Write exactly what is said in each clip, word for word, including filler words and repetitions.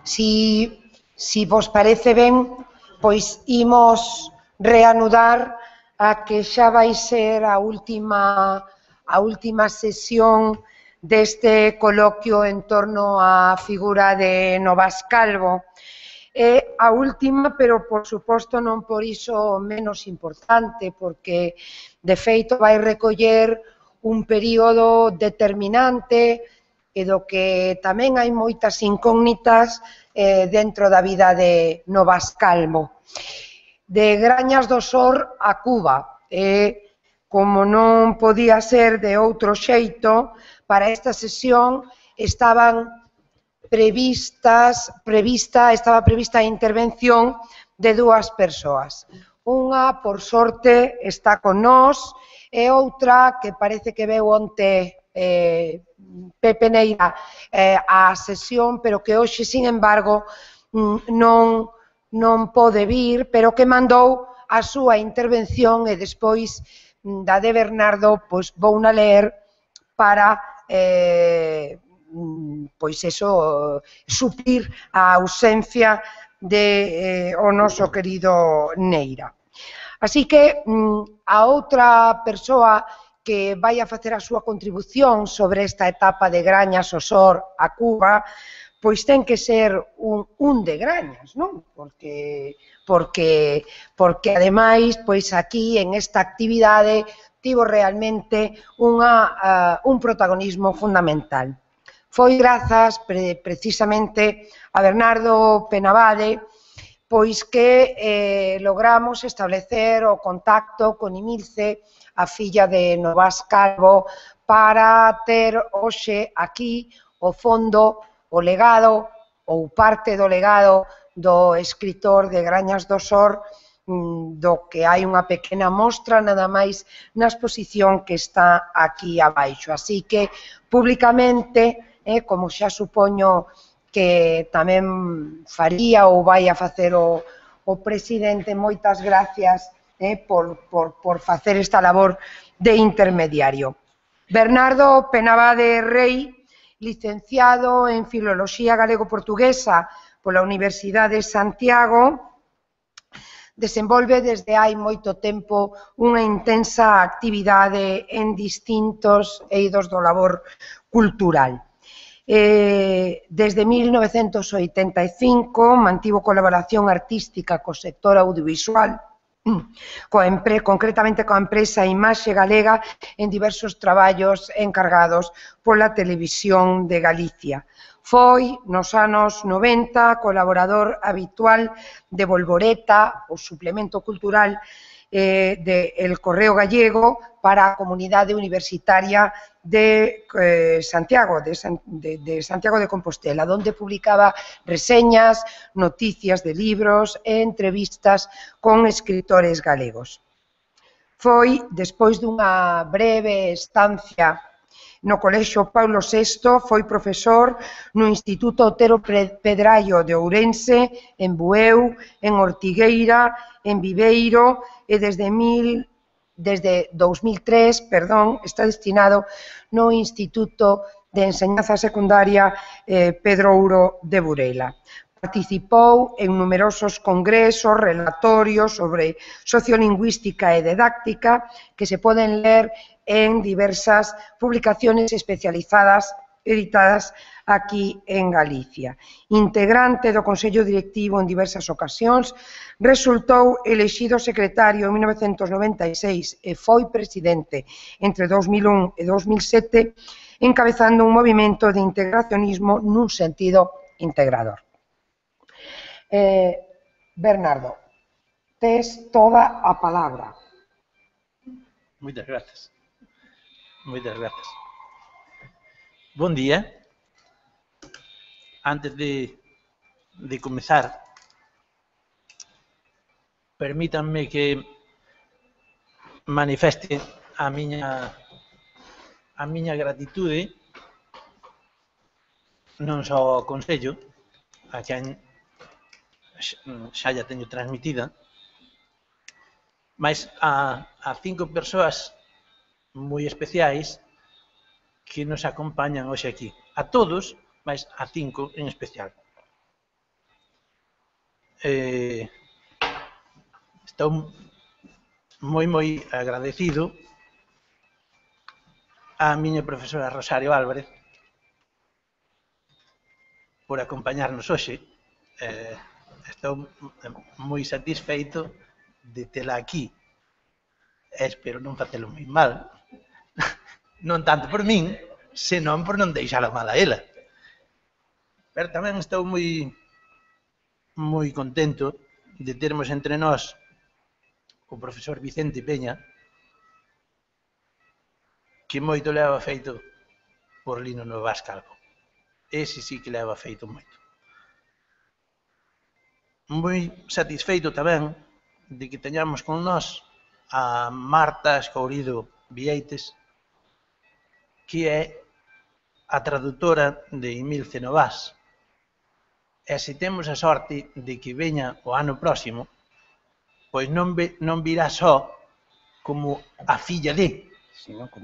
Si, si vos parece ben, pois imos reanudar a que xa vai ser a última, a última sesión deste coloquio en torno á figura de Novas Calvo. É a última, pero por suposto non por iso menos importante, porque de feito vai recoller un período determinante e do que tamén hai moitas incógnitas eh, dentro da vida de Novas Calvo. De Grañas do Sor a Cuba, e como non podía ser de outro xeito, para esta sesión estaban previstas, prevista, estaba prevista a intervención de dúas persoas. Unha, por sorte, está con nós, e outra que parece que veu onte eh, Pepe Neira eh, a sesión, pero que hoxe, sin embargo, non, non pode vir, pero que mandou a súa intervención e despois da de Bernardo, pois vou na ler para eh, pois eso, suplir a ausencia de eh, o noso querido Neira. Así que a outra persoa que vai a facer a súa contribución sobre esta etapa de Grañas ao Sor a Cuba, pois ten que ser un, un de Grañas, non? Porque, porque, porque ademais, pois aquí en esta actividade tivo realmente unha, uh, un protagonismo fundamental. Foi grazas pre, precisamente a Bernardo Penabade pois que eh, logramos establecer o contacto con Imilce, a filla de Novas Calvo, para ter hoxe aquí o fondo, o legado ou parte do legado do escritor de Grañas do Sor, do que hai unha pequena mostra nada máis na exposición que está aquí abaixo. Así que, públicamente, eh, como xa supoño que tamén faría ou vai a facer o, o presidente, moitas gracias eh, por, por, por facer esta labor de intermediario. Bernardo Penabade Rei, licenciado en Filoloxía Galego-Portuguesa pola Universidade de Santiago, desenvolve desde hai moito tempo unha intensa actividade en distintos eidos do labor cultural. Eh, desde mil novecentos oitenta e cinco mantivo colaboración artística co sector audiovisual, coa empre, concretamente coa empresa Imaxe Galega en diversos traballos encargados pola Televisión de Galicia. Foi, nos anos noventa, colaborador habitual de Volvoreta, o suplemento cultural eh, de El Correo Gallego para a comunidade universitaria de eh, Santiago, de, de, de Santiago de Compostela, donde publicaba reseñas, noticias de libros e entrevistas con escritores galegos. Foi, despois dunha breve estancia no Colexio Paulo sexto, foi profesor no Instituto Otero Pedraio de Ourense, en Bueu, en Ortigueira, en Viveiro, e desde, mil, desde dous mil tres perdón, está destinado no Instituto de Enseñanza Secundaria eh, Pedro Ouro de Burela. Participou en numerosos congresos, relatorios sobre sociolingüística e didáctica que se poden ler en diversas publicaciones especializadas editadas aquí en Galicia. Integrante do Consello Directivo en diversas ocasións, resultou elexido secretario en mil novecentos noventa e seis e foi presidente entre dous mil un e dous mil sete, encabezando un movimento de integracionismo nun sentido integrador. Eh, Bernardo, tes toda a palabra. Moitas grazas. Moitas grazas. Bon día. Antes de, de comezar, permítanme que manifeste a miña a miña gratitude non só ao Consello, a quen xa ya teño transmitida, mas a, a cinco persoas moi especiais que nos acompañan hoxe aquí. A todos, mas a cinco en especial. eh, estou moi, moi agradecido á miña profesora Rosario Álvarez por acompañarnos hoxe. Eh, estou moi satisfeito de tela aquí. Espero non facelo moi mal. Non tanto por min, senón por non deixala mal a ela. Pero tamén estou moi moi contento de termos entre nós o profesor Vicente Peña, que moito leva feito por Lino Novas Calvo. Ese sí que leva feito moito. Moi satisfeito tamén de que teñamos con nós a Marta Escourido Vieites, que é a traductora de Emilce Novas. E se temos a sorte de que veña o ano próximo, pois non, ve, non virá só como a filla de,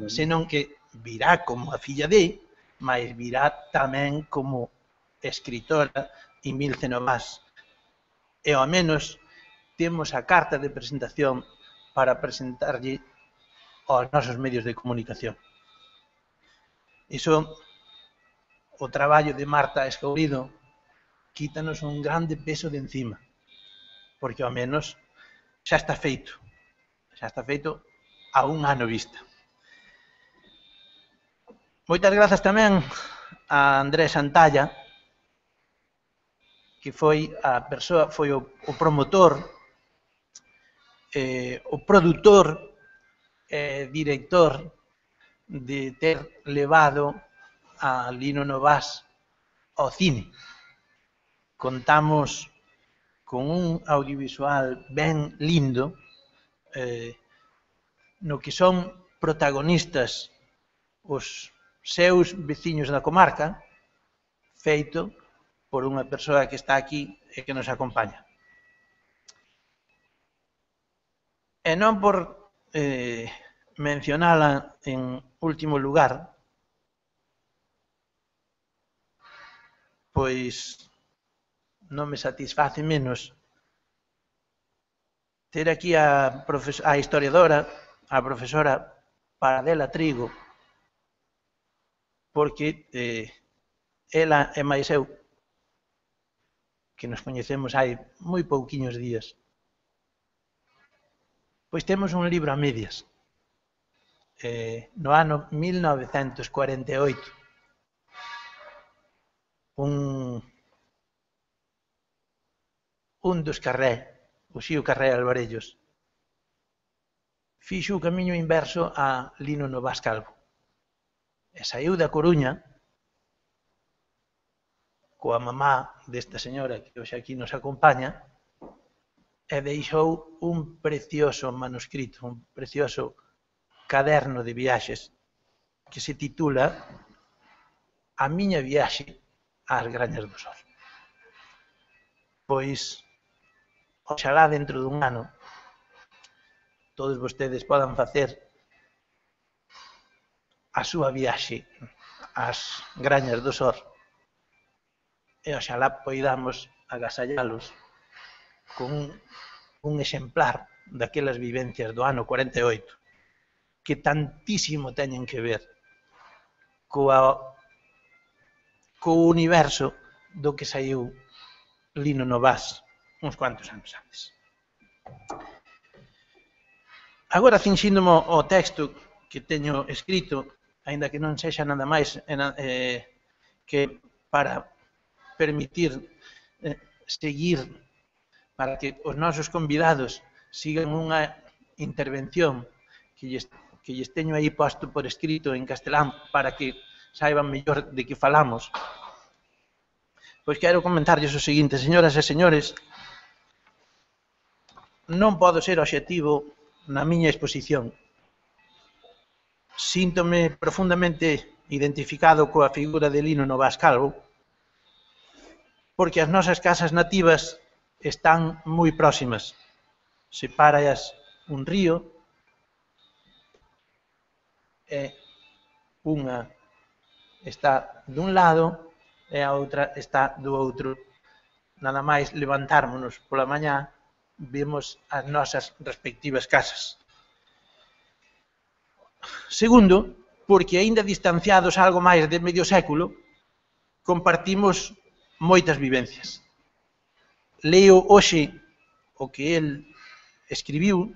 senón que virá como a filla de, mas virá tamén como escritora Emilce Novas. E ao menos temos a carta de presentación para presentarlle aos nosos medios de comunicación. Iso, o traballo de Marta Escourido, quítanos un grande peso de encima, porque ao menos xa está feito, xa está feito a un ano vista. Moitas grazas tamén a Andrés Santalla, que foi a persoa, foi o, o promotor, eh, o produtor, eh, director de ter levado a Lino Novas ao cine. Contamos con un audiovisual ben lindo, eh, no que son protagonistas os seus veciños da comarca, feito por unha persoa que está aquí e que nos acompaña. E non por eh, mencionala en último lugar, pois non me satisface menos ter aquí a, a historiadora, a profesora Paradela Trigo, porque eh, ela e máis eu, que nos coñecemos hai moi pouquiños días, pois temos un libro a medias. Eh, no ano mil novecentos cuarenta e oito, un, un dos Carré, o Xío Carré Alvarellos, fixo o camiño inverso a Lino Novas Calvo. E saiu da Coruña coa mamá desta señora que hoxe aquí nos acompaña e deixou un precioso manuscrito, un precioso caderno de viaxes que se titula A miña viaxe ás Grañas do Sor. Pois, oxalá dentro dun ano todos vostedes podan facer a súa viaxe ás Grañas do Sor e oxalá poidamos agasallalos con un, un exemplar daquelas vivencias do ano cuarenta e oito que tantísimo teñen que ver coa, co universo do que saiu Lino Novas uns cuantos anos antes. Agora, cinxíndomo o texto que teño escrito, aínda que non sexa nada máis eh, que para permitir eh, seguir, para que os nosos convidados sigan unha intervención que lles, que lles teño aí posto por escrito en castelán para que saiban mellor de que falamos. Pois quero comentarlles o seguinte, señoras e señores, non podo ser obxectivo na miña exposición. Síntome profundamente identificado coa figura de Lino Novas Calvo, porque as nosas casas nativas están moi próximas. Sepáraas un río e unha está dun lado e a outra está do outro nada máis levantármonos pola mañá, vemos as nosas respectivas casas. Segundo, porque aínda distanciados algo máis de medio século, compartimos moitas vivencias. Leo hoxe o que el escribiu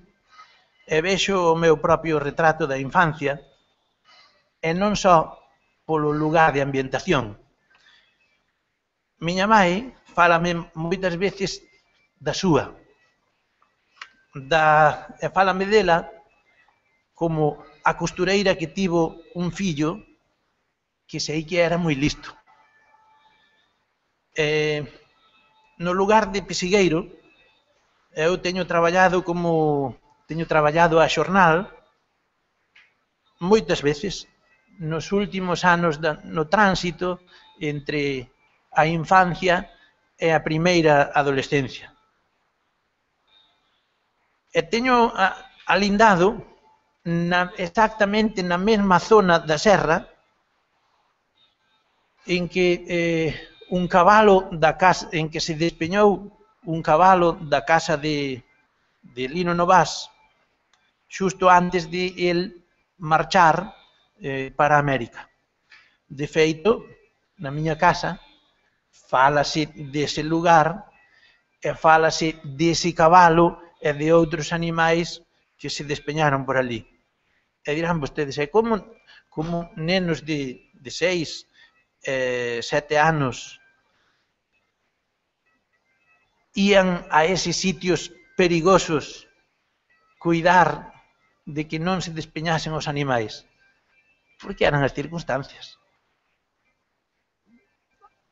e vexo o meu propio retrato da infancia, e non só polo lugar de ambientación. Miña mãe fálame moitas veces da súa, da, e fálame dela como a costureira que tivo un fillo que sei que era moi listo. E, no lugar de pesigueiro, eu teño traballado como teño traballado a xornal moitas veces nos últimos anos da, no tránsito entre a infancia e a primeira adolescencia. E teño a, alindado na, exactamente na mesma zona da serra en que eh, un cabalo da casa, en que se despeñou un cabalo da casa de, de Lino Novás xusto antes de el marchar eh, para América. De feito, na miña casa, fálase dese lugar e fálase dese cabalo e de outros animais que se despeñaron por ali. E dirán vostedes, é como, como nenos de, de seis, eh, sete anos ían a eses sitios perigosos cuidar de que non se despeñasen os animais, porque eran as circunstancias.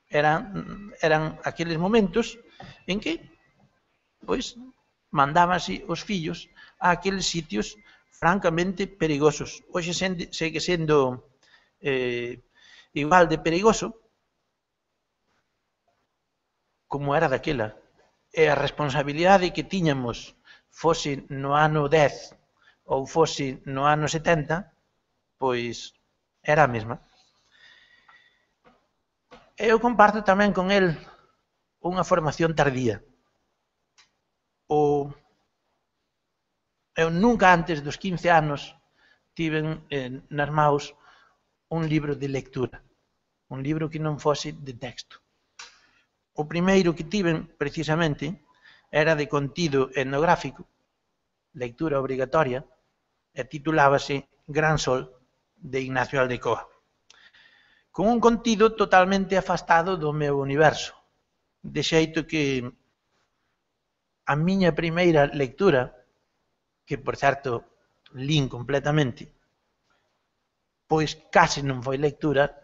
Eran, eran aqueles momentos en que, pois, mandábanse os fillos a aqueles sitios francamente perigosos. Hoxe segue sendo eh, igual de perigoso como era daquela. E a responsabilidade que tiñamos, fose no ano dez ou fose no ano setenta, pois era a mesma. Eu comparto tamén con el unha formación tardía. O, eu nunca antes dos quince anos tiven eh, nas maus un libro de lectura, un libro que non fose de texto. O primeiro que tiven, precisamente, era de contido etnográfico, lectura obrigatoria, e titulábase Gran Sol, de Ignacio Aldecoa, con un contido totalmente afastado do meu universo, de xeito que a miña primeira lectura, que, por certo, lín completamente, pois case non foi lectura,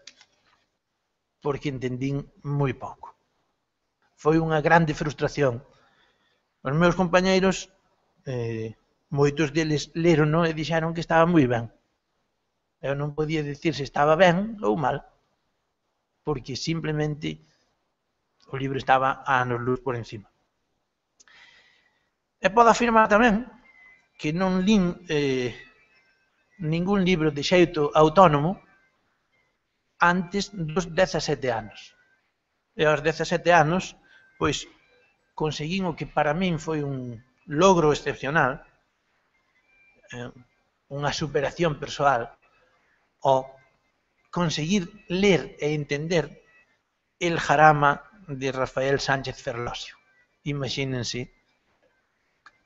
porque entendín moi pouco. Foi unha grande frustración. Os meus compañeiros, eh, moitos deles leron e dixeron que estaba moi ben. Eu non podía dicir se estaba ben ou mal, porque simplemente o libro estaba a anos luz por encima. E podo afirmar tamén que non lín eh, ningún libro de xeito autónomo antes dos dezasete anos. E aos dezasete anos, pois, conseguín o que para min foi un logro excepcional, eh, unha superación persoal, o conseguir ler e entender El Jarama de Rafael Sánchez Ferlosio. Imagínense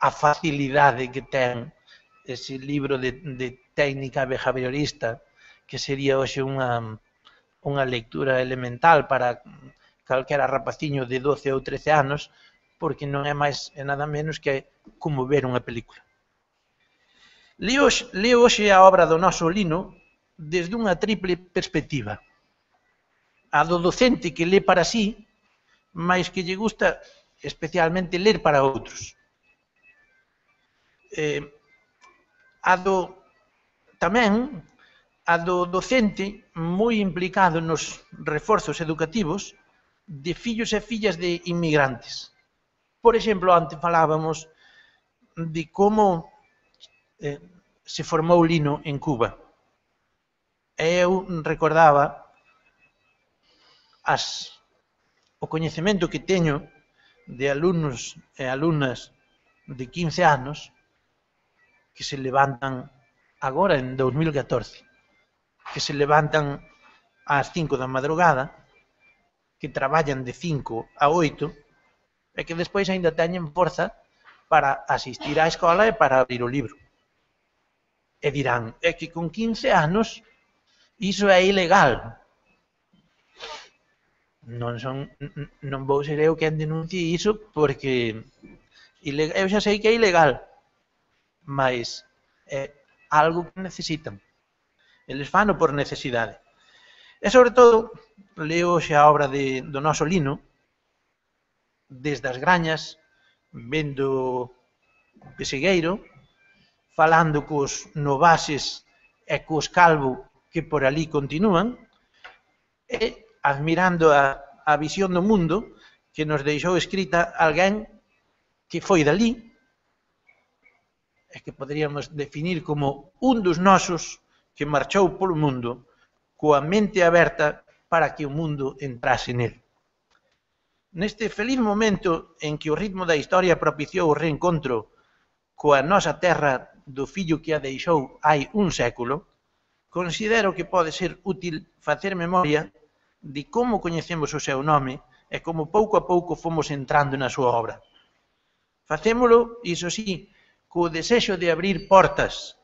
a facilidade que ten ese libro de, de técnica behaviorista, que sería hoxe unha, unha lectura elemental para calquera rapaciño de doce ou trece anos, porque non é máis e nada menos que como ver unha película. Leo, leo hoxe a obra do noso Lino desde unha triple perspectiva. A do docente que lê para sí, mais que lle gusta especialmente ler para outros. Eh, a do, tamén, a do docente moi implicado nos reforzos educativos de fillos e fillas de inmigrantes. Por exemplo, antes falábamos de como eh, se formou Lino en Cuba. E eu recordaba as, o coñecemento que teño de alumnos e alumnas de quince anos que se levantan agora en dos mil catorce, que se levantan ás cinco da madrugada, que traballan de cinco a oito e que despois aínda teñen forza para asistir á escola e para abrir o libro. E dirán, é que con quince anos iso é ilegal. Non son, non vou ser eu quen denuncie iso porque eu xa sei que é ilegal, mas é algo que necesitan. Eles fano por necesidade. E, sobre todo, leo xa a obra de, do noso Lino, desde as Grañas, vendo Pesegueiro, falando cos Novases e cos Calvo que por ali continúan, e admirando a, a visión do mundo que nos deixou escrita alguén que foi dali, e que poderíamos definir como un dos nosos que marchou polo mundo coa mente aberta para que o mundo entrase nel. Neste feliz momento en que o ritmo da historia propiciou o reencontro coa nosa terra do fillo que a deixou hai un século, considero que pode ser útil facer memoria de como coñecemos o seu nome e como pouco a pouco fomos entrando na súa obra. Facémolo, iso sí, co desexo de abrir portas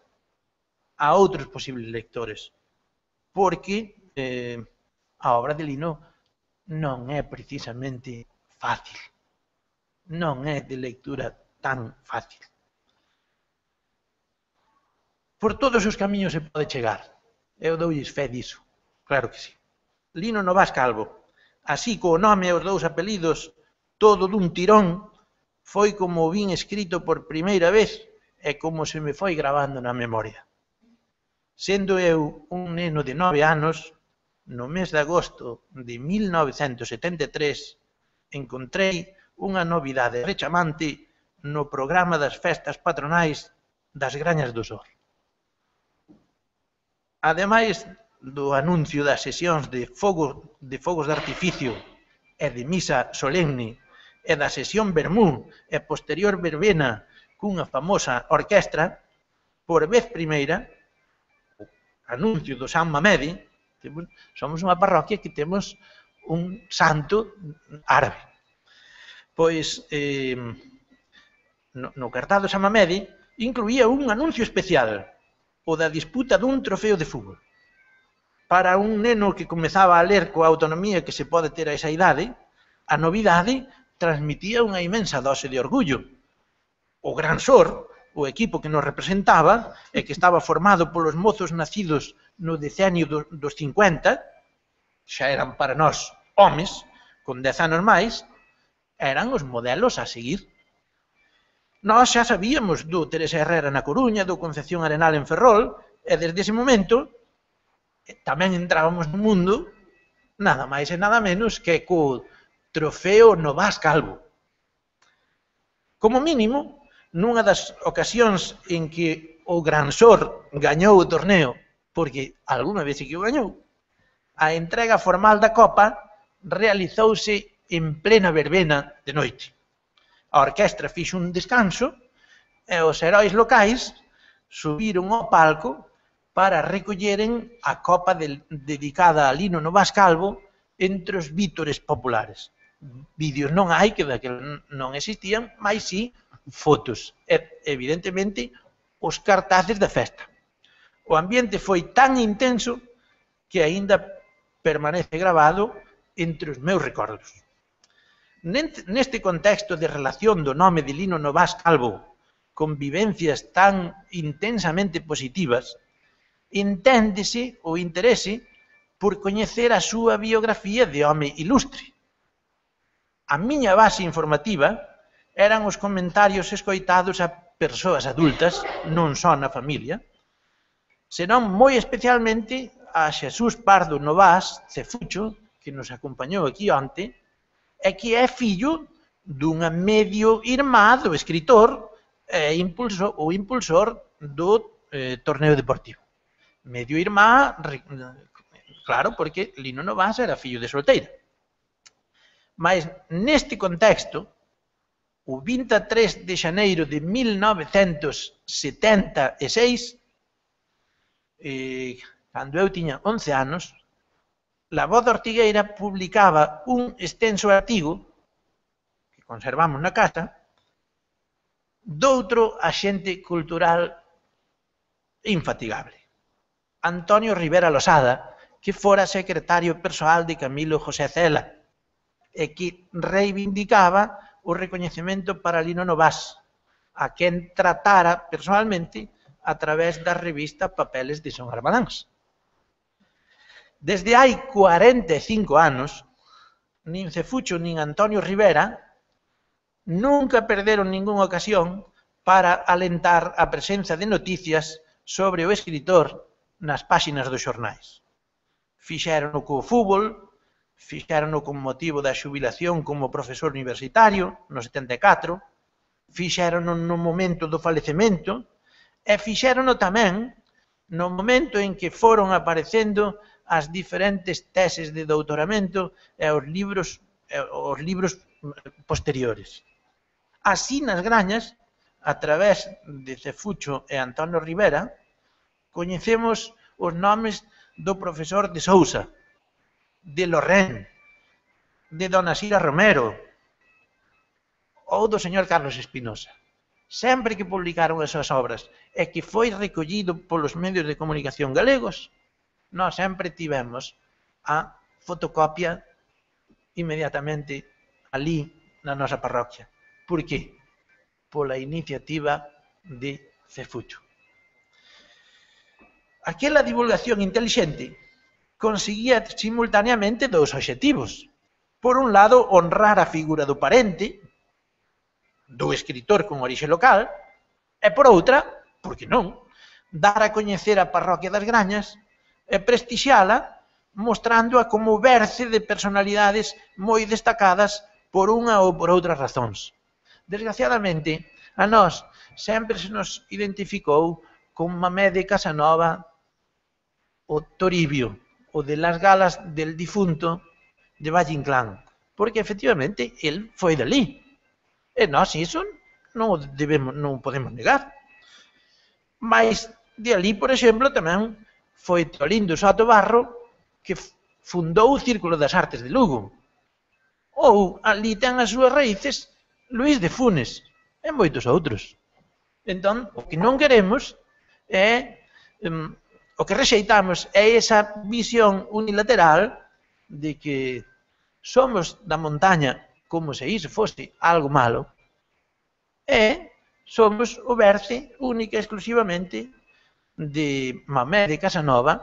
a outros posibles lectores, porque eh, a obra de Lino non é precisamente fácil, non é de lectura tan fácil. Por todos os camiños se pode chegar, eu doulles fe diso, claro que sí. Lino Novás Calvo, así co nome e os dous apelidos, todo dun tirón, foi como o vin escrito por primeira vez e como se me foi gravando na memoria. Sendo eu un neno de nove anos, no mes de agosto de mil novecentos setenta e tres, encontrei unha novidade rechamante no programa das festas patronais das Grañas do Sor. Ademais do anuncio das sesións de fogos de, fogos de artificio e de misa solemne e da sesión vermú e posterior verbena cunha famosa orquestra, por vez primeira, o anuncio do San Mamede, somos unha parroquia que temos un santo árabe. Pois, eh, no, no cartaz do San Mamede incluía un anuncio especial, o da disputa dun trofeo de fútbol. Para un neno que comezaba a ler coa autonomía que se pode ter a esa idade, a novidade transmitía unha inmensa dose de orgullo. O Gran Sor, o equipo que nos representaba e que estaba formado polos mozos nacidos no decenio do, dos cincuenta, xa eran para nós homes, con dez anos máis, eran os modelos a seguir. Nós xa sabíamos do Teresa Herrera na Coruña, do Concepción Arenal en Ferrol, e desde ese momento tamén entrábamos no mundo nada máis e nada menos que co trofeo Novás Calvo. Como mínimo, nunha das ocasións en que o Gran Sor gañou o torneo, porque algunha vez que o gañou, a entrega formal da copa realizouse en plena verbena de noite. A orquestra fixo un descanso e os heróis locais subiron ao palco para recolleren a copa de, dedicada a Lino Novás Calvo entre os vítores populares. Vídeos non hai, que daquela non existían, mas sí fotos. E, evidentemente, os cartaces da festa. O ambiente foi tan intenso que aínda permanece gravado entre os meus recordos. Neste contexto de relación do nome de Lino Novás Calvo con vivencias tan intensamente positivas, enténdese o interese por coñecer a súa biografía de home ilustre. A miña base informativa eran os comentarios escoitados a persoas adultas, non só na familia, senón moi especialmente a Xesús Pardo Novás Cefucho, que nos acompañou aquí onte, e que é fillo dunha medio irmá do escritor e impulsor, o impulsor do eh, torneo deportivo. Medio irmá, claro, porque Lino Novás era fillo de solteira. Mas neste contexto, o vinte e tres de xaneiro de mil novecentos setenta e seis, eh, cando eu tiña once anos, La Voz da Ortigueira publicaba un extenso artigo, que conservamos na casa, doutro axente cultural infatigable, Antonio Rivera Losada, que fora secretario persoal de Camilo José Cela, e que reivindicaba o recoñecemento para Lino Novás, a quen tratara personalmente a través da revista Papeles de Son Armadáns. Desde hai cuarenta e cinco anos, nin Cefucho nin Antonio Rivera nunca perderon ningunha ocasión para alentar a presenza de noticias sobre o escritor nas páxinas dos xornais. Fixérono co fútbol, fixérono con motivo da xubilación como profesor universitario, no setenta e catro, fixérono no momento do falecemento, e fixérono tamén no momento en que foron aparecendo as diferentes teses de doutoramento e os libros, e os libros posteriores. Así, nas Grañas, a través de Cefucho e Antonio Rivera, coñecemos os nomes do profesor de Sousa, de Lorén, de Dona Sira Romero ou do señor Carlos Espinosa. Sempre que publicaron as súas obras e que foi recollido polos medios de comunicación galegos, nós sempre tivemos a fotocopia inmediatamente ali na nosa parroquia. Por qué? Pola iniciativa de Cefucho. Aquela divulgación intelixente conseguía simultaneamente dous obxectivos. Por un lado, honrar a figura do parente, do escritor con orixe local, e por outra, por que non, dar a coñecer a parroquia das Grañas e prestixiala mostrándoa como berce de personalidades moi destacadas por unha ou por outras razóns. Desgraciadamente, a nós sempre se nos identificou con Mamé de Casanova, o Toribio, o de las galas del difunto de Valle Inclán, porque efectivamente el foi dali. E nós iso non debemos, non podemos negar. Mas de ali, por exemplo, tamén foi Tolindo Soto Barro que fundou o Círculo das Artes de Lugo. Ou ali ten as súas raíces Luís de Funes e moitos outros. Entón, o que non queremos é... Um, o que rexeitamos é esa visión unilateral de que somos da montaña como se iso fose algo malo e somos o berce única e exclusivamente de Mamé de Casanova.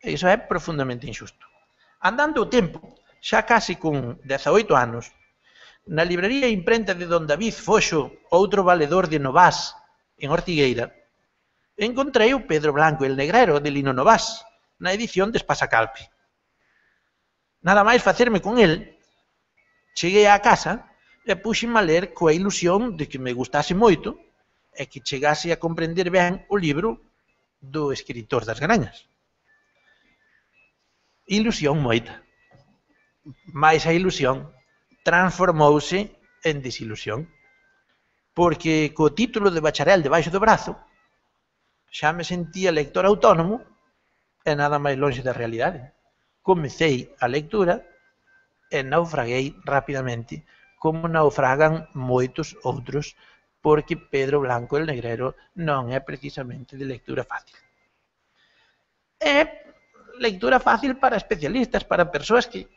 E iso é profundamente injusto. Andando o tempo, xa casi con dezaoito anos, na librería imprenta de don David Foxo, outro valedor de Novás, en Ortigueira, encontrei o Pedro Blanco el Negrero de Lino Novás, na edición de Espasacalpe. Nada máis facerme con el, cheguei á casa e puxeme a ler coa ilusión de que me gustase moito e que chegase a comprender ben o libro do escritor das Grañas. Ilusión moita. Mais a ilusión transformouse en desilusión, porque co título de bacharel debaixo do brazo, xa me sentía lector autónomo e nada máis lonxe da realidade. Comecei a lectura e naufraguei rapidamente, como naufragan moitos outros, porque Pedro Blanco el Negrero non é precisamente de lectura fácil. É lectura fácil para especialistas, para persoas que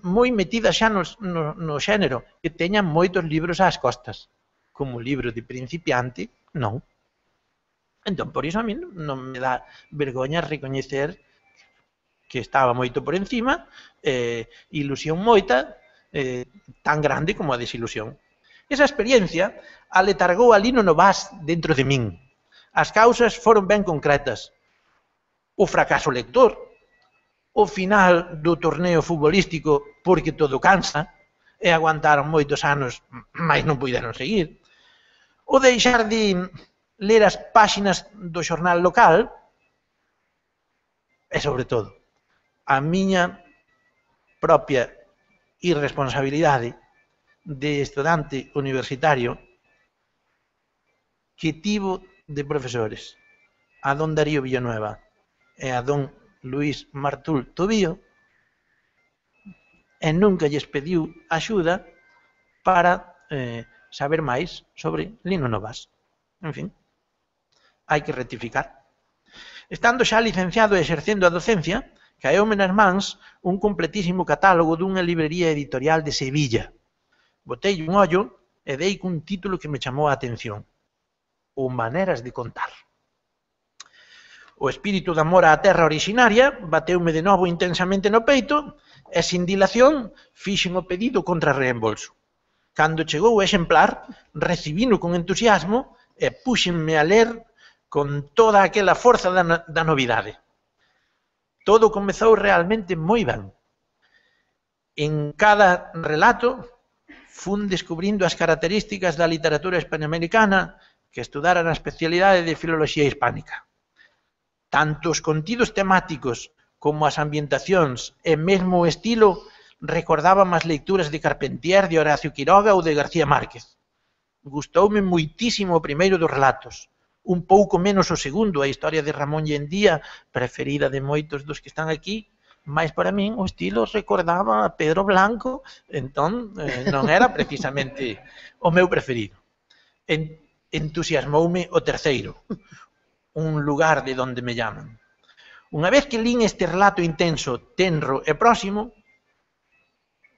moi metidas xa no, no, no xénero, que teñan moitos libros ás costas. Como libro de principiante, non. Entón, por iso a mí non me dá vergoña recoñecer que estaba moito por encima, eh, ilusión moita, eh, tan grande como a desilusión. Esa experiencia aletargou a Lino Novás dentro de min. As causas foron ben concretas. O fracaso lector, o final do torneo futbolístico porque todo cansa, e aguantaron moitos anos, mas non puideron seguir. O deixar de ler as páxinas do xornal local e, sobre todo, a miña propia irresponsabilidade de estudante universitario que tivo de profesores a don Darío Villanueva e a don Luís Martul Tobío, e nunca lles pediu axuda para eh, saber máis sobre Lino Novas. En fin, hai que rectificar. Estando xa licenciado e exercendo a docencia, caeume nas mans un completísimo catálogo dunha librería editorial de Sevilla. Botei un ollo e dei cun título que me chamou a atención: O Maneras de Contar. O espírito de amor á terra originaria bateume de novo intensamente no peito e, sin dilación, fixen o pedido contra reembolso. Cando chegou o exemplar, recibino con entusiasmo e púxenme a ler con toda aquela forza da, no da novidade. Todo comezou realmente moi ben. En cada relato fun descubrindo as características da literatura hispanoamericana que estudara na especialidade de filoloxía hispánica. Tanto os contidos temáticos como as ambientacións e mesmo o estilo recordaban as lecturas de Carpentier, de Horacio Quiroga ou de García Márquez. Gustoume moitísimo o primeiro dos relatos, un pouco menos o segundo, a historia de Ramón Lendía, preferida de moitos dos que están aquí, mas para min o estilo recordaba a Pedro Blanco, entón eh, non era precisamente o meu preferido. En, entusiasmoume o terceiro, Un lugar de donde me llaman. Unha vez que lín este relato intenso, tenro e próximo,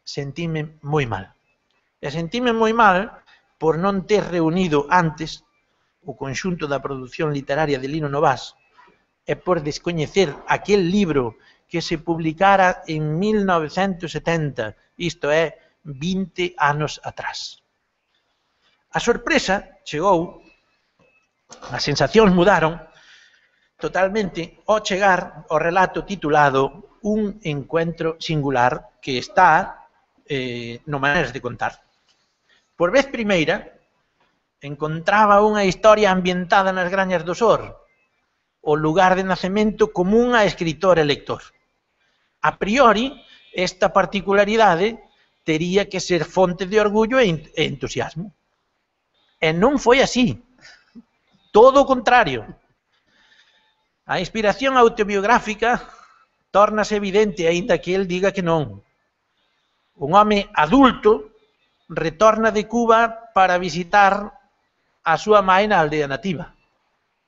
sentíme moi mal. E sentíme moi mal por non ter reunido antes o conxunto da produción literaria de Lino Novas e por descoñecer aquel libro que se publicara en mil novecentos setenta, isto é, vinte anos atrás. A sorpresa chegou, as sensacións mudaron totalmente ao chegar ao relato titulado Un encuentro singular, que está eh, no Maneras de Contar. Por vez primeira, encontraba unha historia ambientada nas Grañas do Sor, o lugar de nacemento común a escritor e lector. A priori, esta particularidade tería que ser fonte de orgullo e entusiasmo. E non foi así. Todo o contrario. A inspiración autobiográfica tórnase evidente, aínda que el diga que non. Un home adulto retorna de Cuba para visitar a súa mãe na aldea nativa.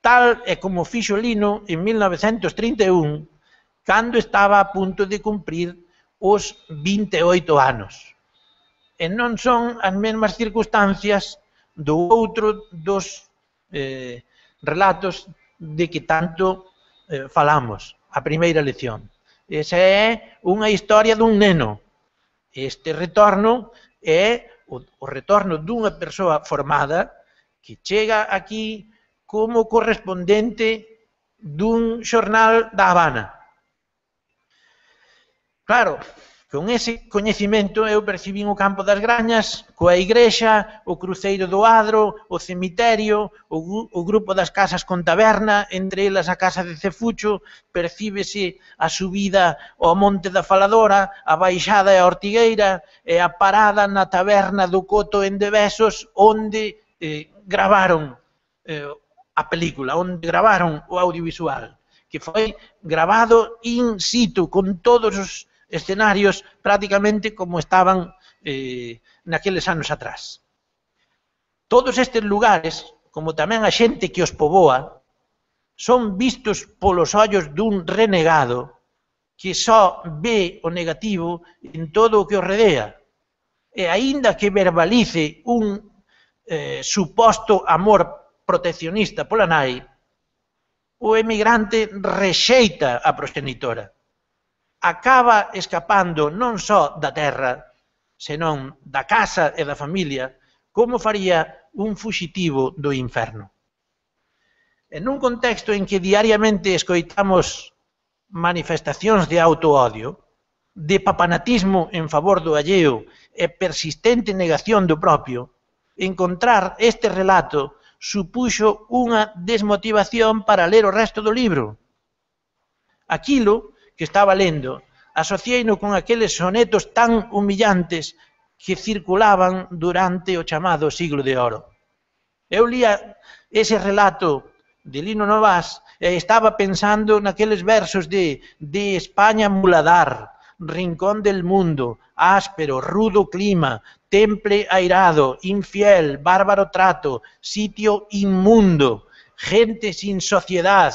Tal é como fixo Lino en mil novecentos trinta e un, cando estaba a punto de cumprir os vinte e oito anos. E non son as mesmas circunstancias do outro dos eh, relatos de que tanto eh, falamos, a primeira lección. Esa é unha historia dun neno. Este retorno é o, o retorno dunha persoa formada que chega aquí como correspondente dun xornal da Habana. Claro, con ese coñecimento eu percibín o campo das Grañas, coa igrexa, o cruceiro do Adro, o cemiterio, o, o grupo das casas con taberna, entre elas a casa de Cefucho, percíbese a subida ao Monte da Faladora, a baixada e a Ortigueira, e a parada na taberna do Coto en Devesos, onde eh, gravaron eh, a película, onde gravaron o audiovisual, que foi gravado in situ, con todos os escenarios prácticamente como estaban eh, naqueles anos atrás. Todos estes lugares, como tamén a xente que os poboa, son vistos polos ollos dun renegado que só ve o negativo en todo o que o redea. E aínda que verbalice un eh, suposto amor proteccionista pola nai, o emigrante rexeita a proxenitora. Acaba escapando non só da terra, senón da casa e da familia, como faría un fuxitivo do inferno. En un contexto en que diariamente escoitamos manifestacións de autoodio, de papanatismo en favor do alleo e persistente negación do propio, encontrar este relato supuxo unha desmotivación para ler o resto do libro. Aquilo que estaba lendo, asociei-no con aqueles sonetos tan humillantes que circulaban durante o chamado siglo de oro. Eu lía ese relato de Lino Novás e estaba pensando naqueles versos de, de España muladar, rincón del mundo, áspero, rudo clima, temple airado, infiel, bárbaro trato, sitio inmundo, gente sin sociedad,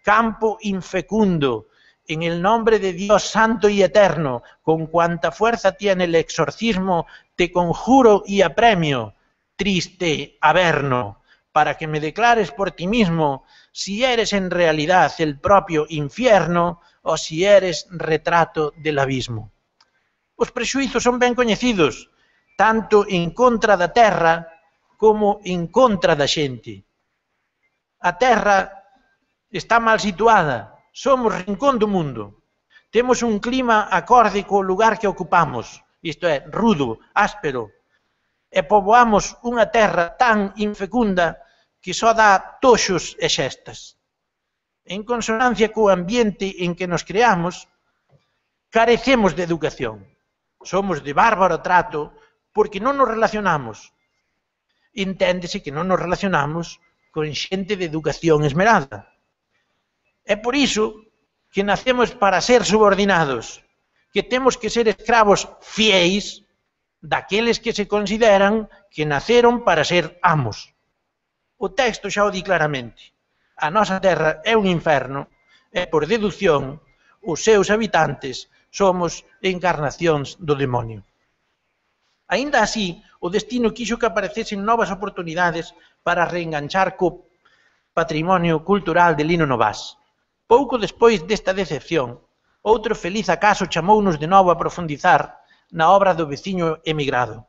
campo infecundo. En el nombre de Dios santo y eterno, con cuanta fuerza tiene el exorcismo, te conjuro y apremio, triste Averno, para que me declares por ti mismo si eres en realidad el propio infierno o si eres retrato del abismo. Os prexuizos son ben coñecidos, tanto en contra da terra como en contra da xente. A terra está mal situada, somos rincón do mundo. Temos un clima acorde co lugar que ocupamos, isto é, rudo, áspero, e poboamos unha terra tan infecunda que só dá toxos e xestas. En consonancia co ambiente en que nos creamos, carecemos de educación. Somos de bárbaro trato porque non nos relacionamos. Enténdese que non nos relacionamos con xente de educación esmerada. É por iso que nacemos para ser subordinados, que temos que ser escravos fiéis daqueles que se consideran que naceron para ser amos. O texto xa o di claramente. A nosa terra é un inferno e, por deducción, os seus habitantes somos encarnacións do demonio. Aínda así, o destino quixo que aparecesen novas oportunidades para reenganchar co patrimonio cultural de Lino Novás. Pouco despois desta decepción, outro feliz acaso chamounos de novo a profundizar na obra do veciño emigrado.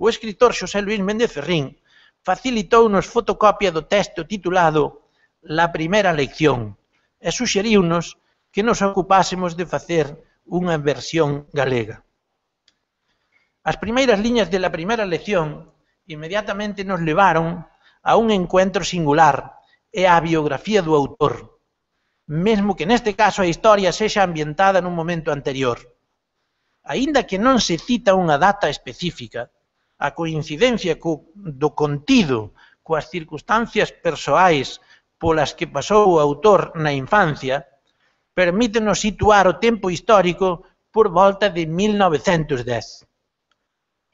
O escritor Xosé Luís Méndez Ferrín facilitounos fotocopia do texto titulado La primera lección e suxeriunos que nos ocupásemos de facer unha versión galega. As primeiras liñas de La primera lección inmediatamente nos levaron a un encuentro singular e á biografía do autor, mesmo que neste caso a historia sexa ambientada nun momento anterior. Aínda que non se cita unha data específica, a coincidencia co, do contido coas circunstancias persoais polas que pasou o autor na infancia, permítenos situar o tempo histórico por volta de mil novecentos dez.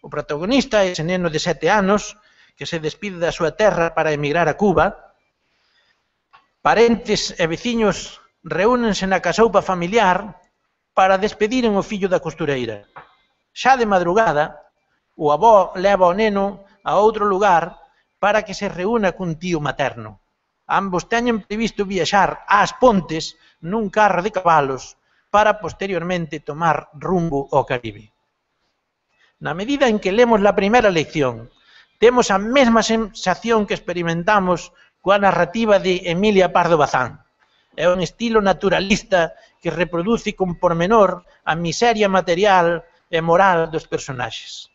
O protagonista é ese neno de sete anos que se despide da súa terra para emigrar a Cuba. Parentes e veciños reúnense na casoupa familiar para despediren o fillo da costureira. Xa de madrugada, o avó leva o neno a outro lugar para que se reúna cun tío materno. Ambos teñen previsto viaxar ás Pontes nun carro de cabalos para posteriormente tomar rumbo ao Caribe. Na medida en que lemos la primeira lección, temos a mesma sensación que experimentamos coa narrativa de Emilia Pardo Bazán. É un estilo naturalista que reproduce con pormenor a miseria material e moral dos personaxes.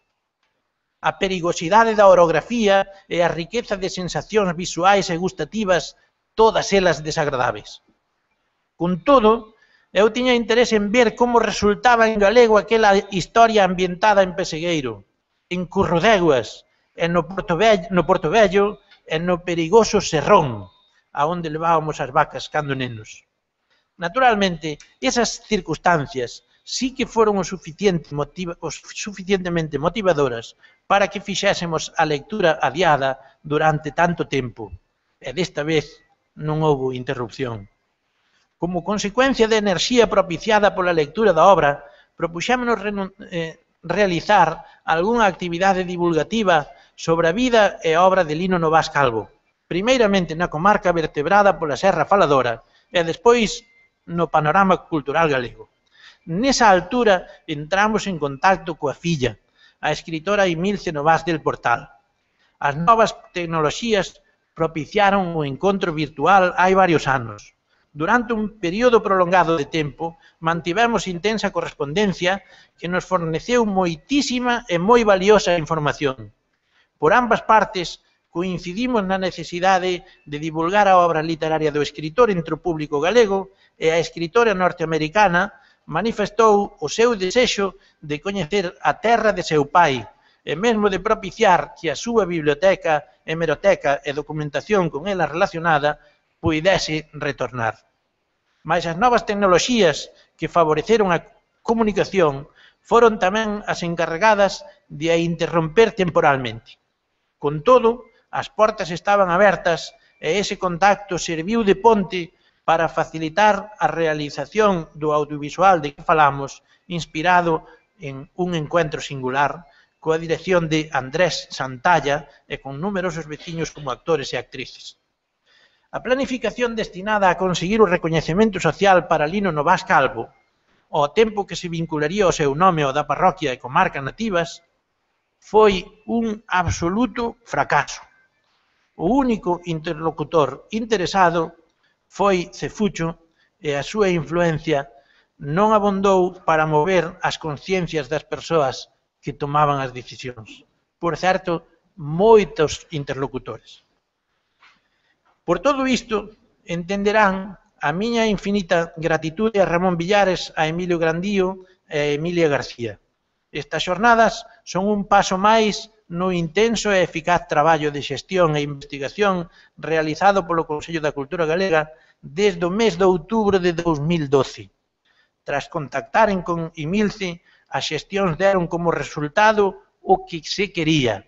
A perigosidade da orografía e a riqueza de sensacións visuais e gustativas, todas elas desagradables. Con todo, eu tiña interese en ver como resultaba en galego aquela historia ambientada en Pesegueiro, en Currodeguas, e no Porto Vello, no Porto Vello e no perigoso Serrón, aonde levábamos as vacas cando nenos. Naturalmente, esas circunstancias sí que foron o, suficiente motiva, o suficientemente motivadoras para que fixésemos a lectura adiada durante tanto tempo, e desta vez non houbo interrupción. Como consecuencia da enerxía propiciada pola lectura da obra, propuxémonos eh, realizar algunha actividade divulgativa sobre a vida e obra de Lino Novás Calvo, primeiramente na comarca vertebrada pola Serra Faladora e despois no panorama cultural galego. Nesa altura entramos en contacto coa filla, a escritora Emilce Novás del Portal. As novas tecnoloxías propiciaron o encontro virtual hai varios anos. Durante un período prolongado de tempo, mantivemos intensa correspondencia que nos forneceu moitísima e moi valiosa información. Por ambas partes, coincidimos na necesidade de divulgar a obra literaria do escritor entre o público galego e a escritora norteamericana manifestou o seu desexo de coñecer a terra de seu pai e mesmo de propiciar que a súa biblioteca, hemeroteca e documentación con ela relacionada puidese retornar. Mais as novas tecnoloxías que favoreceron a comunicación foron tamén as encarregadas de a interromper temporalmente. Con todo, as portas estaban abertas e ese contacto serviu de ponte para facilitar a realización do audiovisual de que falamos, inspirado en un encuentro singular coa dirección de Andrés Santalla e con numerosos veciños como actores e actrices. A planificación destinada a conseguir o recoñecemento social para Lino Novás Calvo, ao tempo que se vincularía o seu nome ao da parroquia e comarca nativas, foi un absoluto fracaso. O único interlocutor interesado foi Cefucho e a súa influencia non abondou para mover as conciencias das persoas que tomaban as decisións. Por certo, moitos interlocutores. Por todo isto, entenderán a miña infinita gratitude a Ramón Villares, a Emilio Grandío e a Emilia García. Estas xornadas son un paso máis no intenso e eficaz traballo de xestión e investigación realizado polo Consello da Cultura Galega desde o mes de outubro de dous mil doce. Tras contactaren con Imilce, as xestións deron como resultado o que se quería,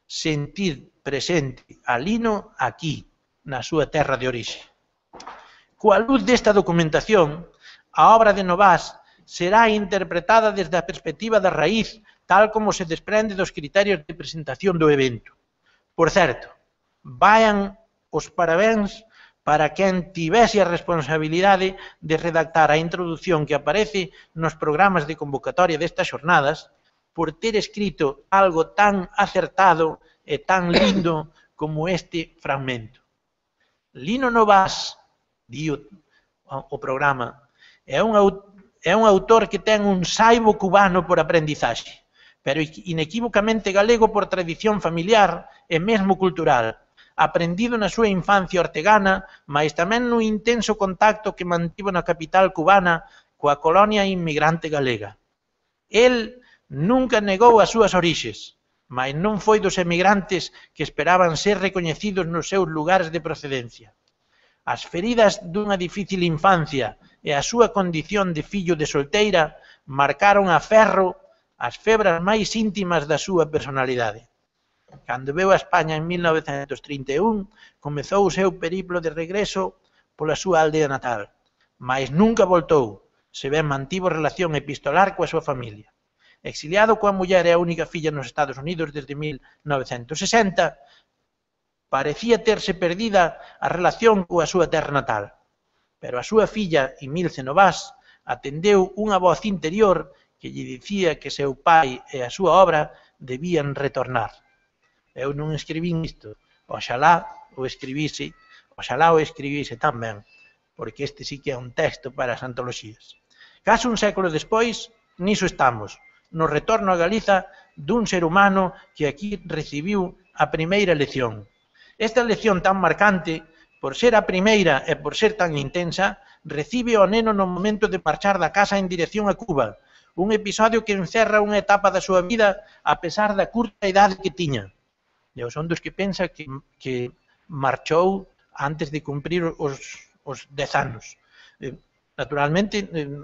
sentir presente a Lino aquí, na súa terra de orixe. Coa luz desta documentación, a obra de Novás será interpretada desde a perspectiva da raíz, tal como se desprende dos criterios de presentación do evento. Por certo, vayan os parabéns para quen tivese a responsabilidade de redactar a introdución que aparece nos programas de convocatoria destas xornadas, por ter escrito algo tan acertado e tan lindo como este fragmento. Lino Novás, di o, o programa, é un, é un autor que ten un saibo cubano por aprendizaxe, pero inequívocamente galego por tradición familiar e mesmo cultural, aprendido na súa infancia ortegana, mas tamén no intenso contacto que mantivo na capital cubana coa colonia inmigrante galega. El nunca negou as súas orixes, mas non foi dos emigrantes que esperaban ser recoñecidos nos seus lugares de procedencia. As feridas dunha difícil infancia e a súa condición de fillo de solteira marcaron a ferro as febras máis íntimas da súa personalidade. Cando veu a España en mil novecentos trinta e un, comezou o seu periplo de regreso pola súa aldea natal, mas nunca voltou, se ben mantivo relación epistolar coa súa familia. Exiliado coa muller e a única filla nos Estados Unidos desde mil novecentos sesenta, parecía terse perdida a relación coa súa terra natal, pero a súa filla, Imilce Novás, atendeu unha voz interior que lle dicía que seu pai e a súa obra debían retornar. Eu non escribín isto, oxalá o escribise, oxalá o escribise tamén, porque este sí que é un texto para as antoloxías. Case un século despois, niso estamos, no retorno a Galiza dun ser humano que aquí recibiu a primeira lección. Esta lección tan marcante, por ser a primeira e por ser tan intensa, recibe o neno no momento de marchar da casa en dirección a Cuba, un episodio que encerra unha etapa da súa vida a pesar da curta idade que tiña. Eu son dos que pensa que, que marchou antes de cumprir os, os dez anos. Eh, naturalmente, eh,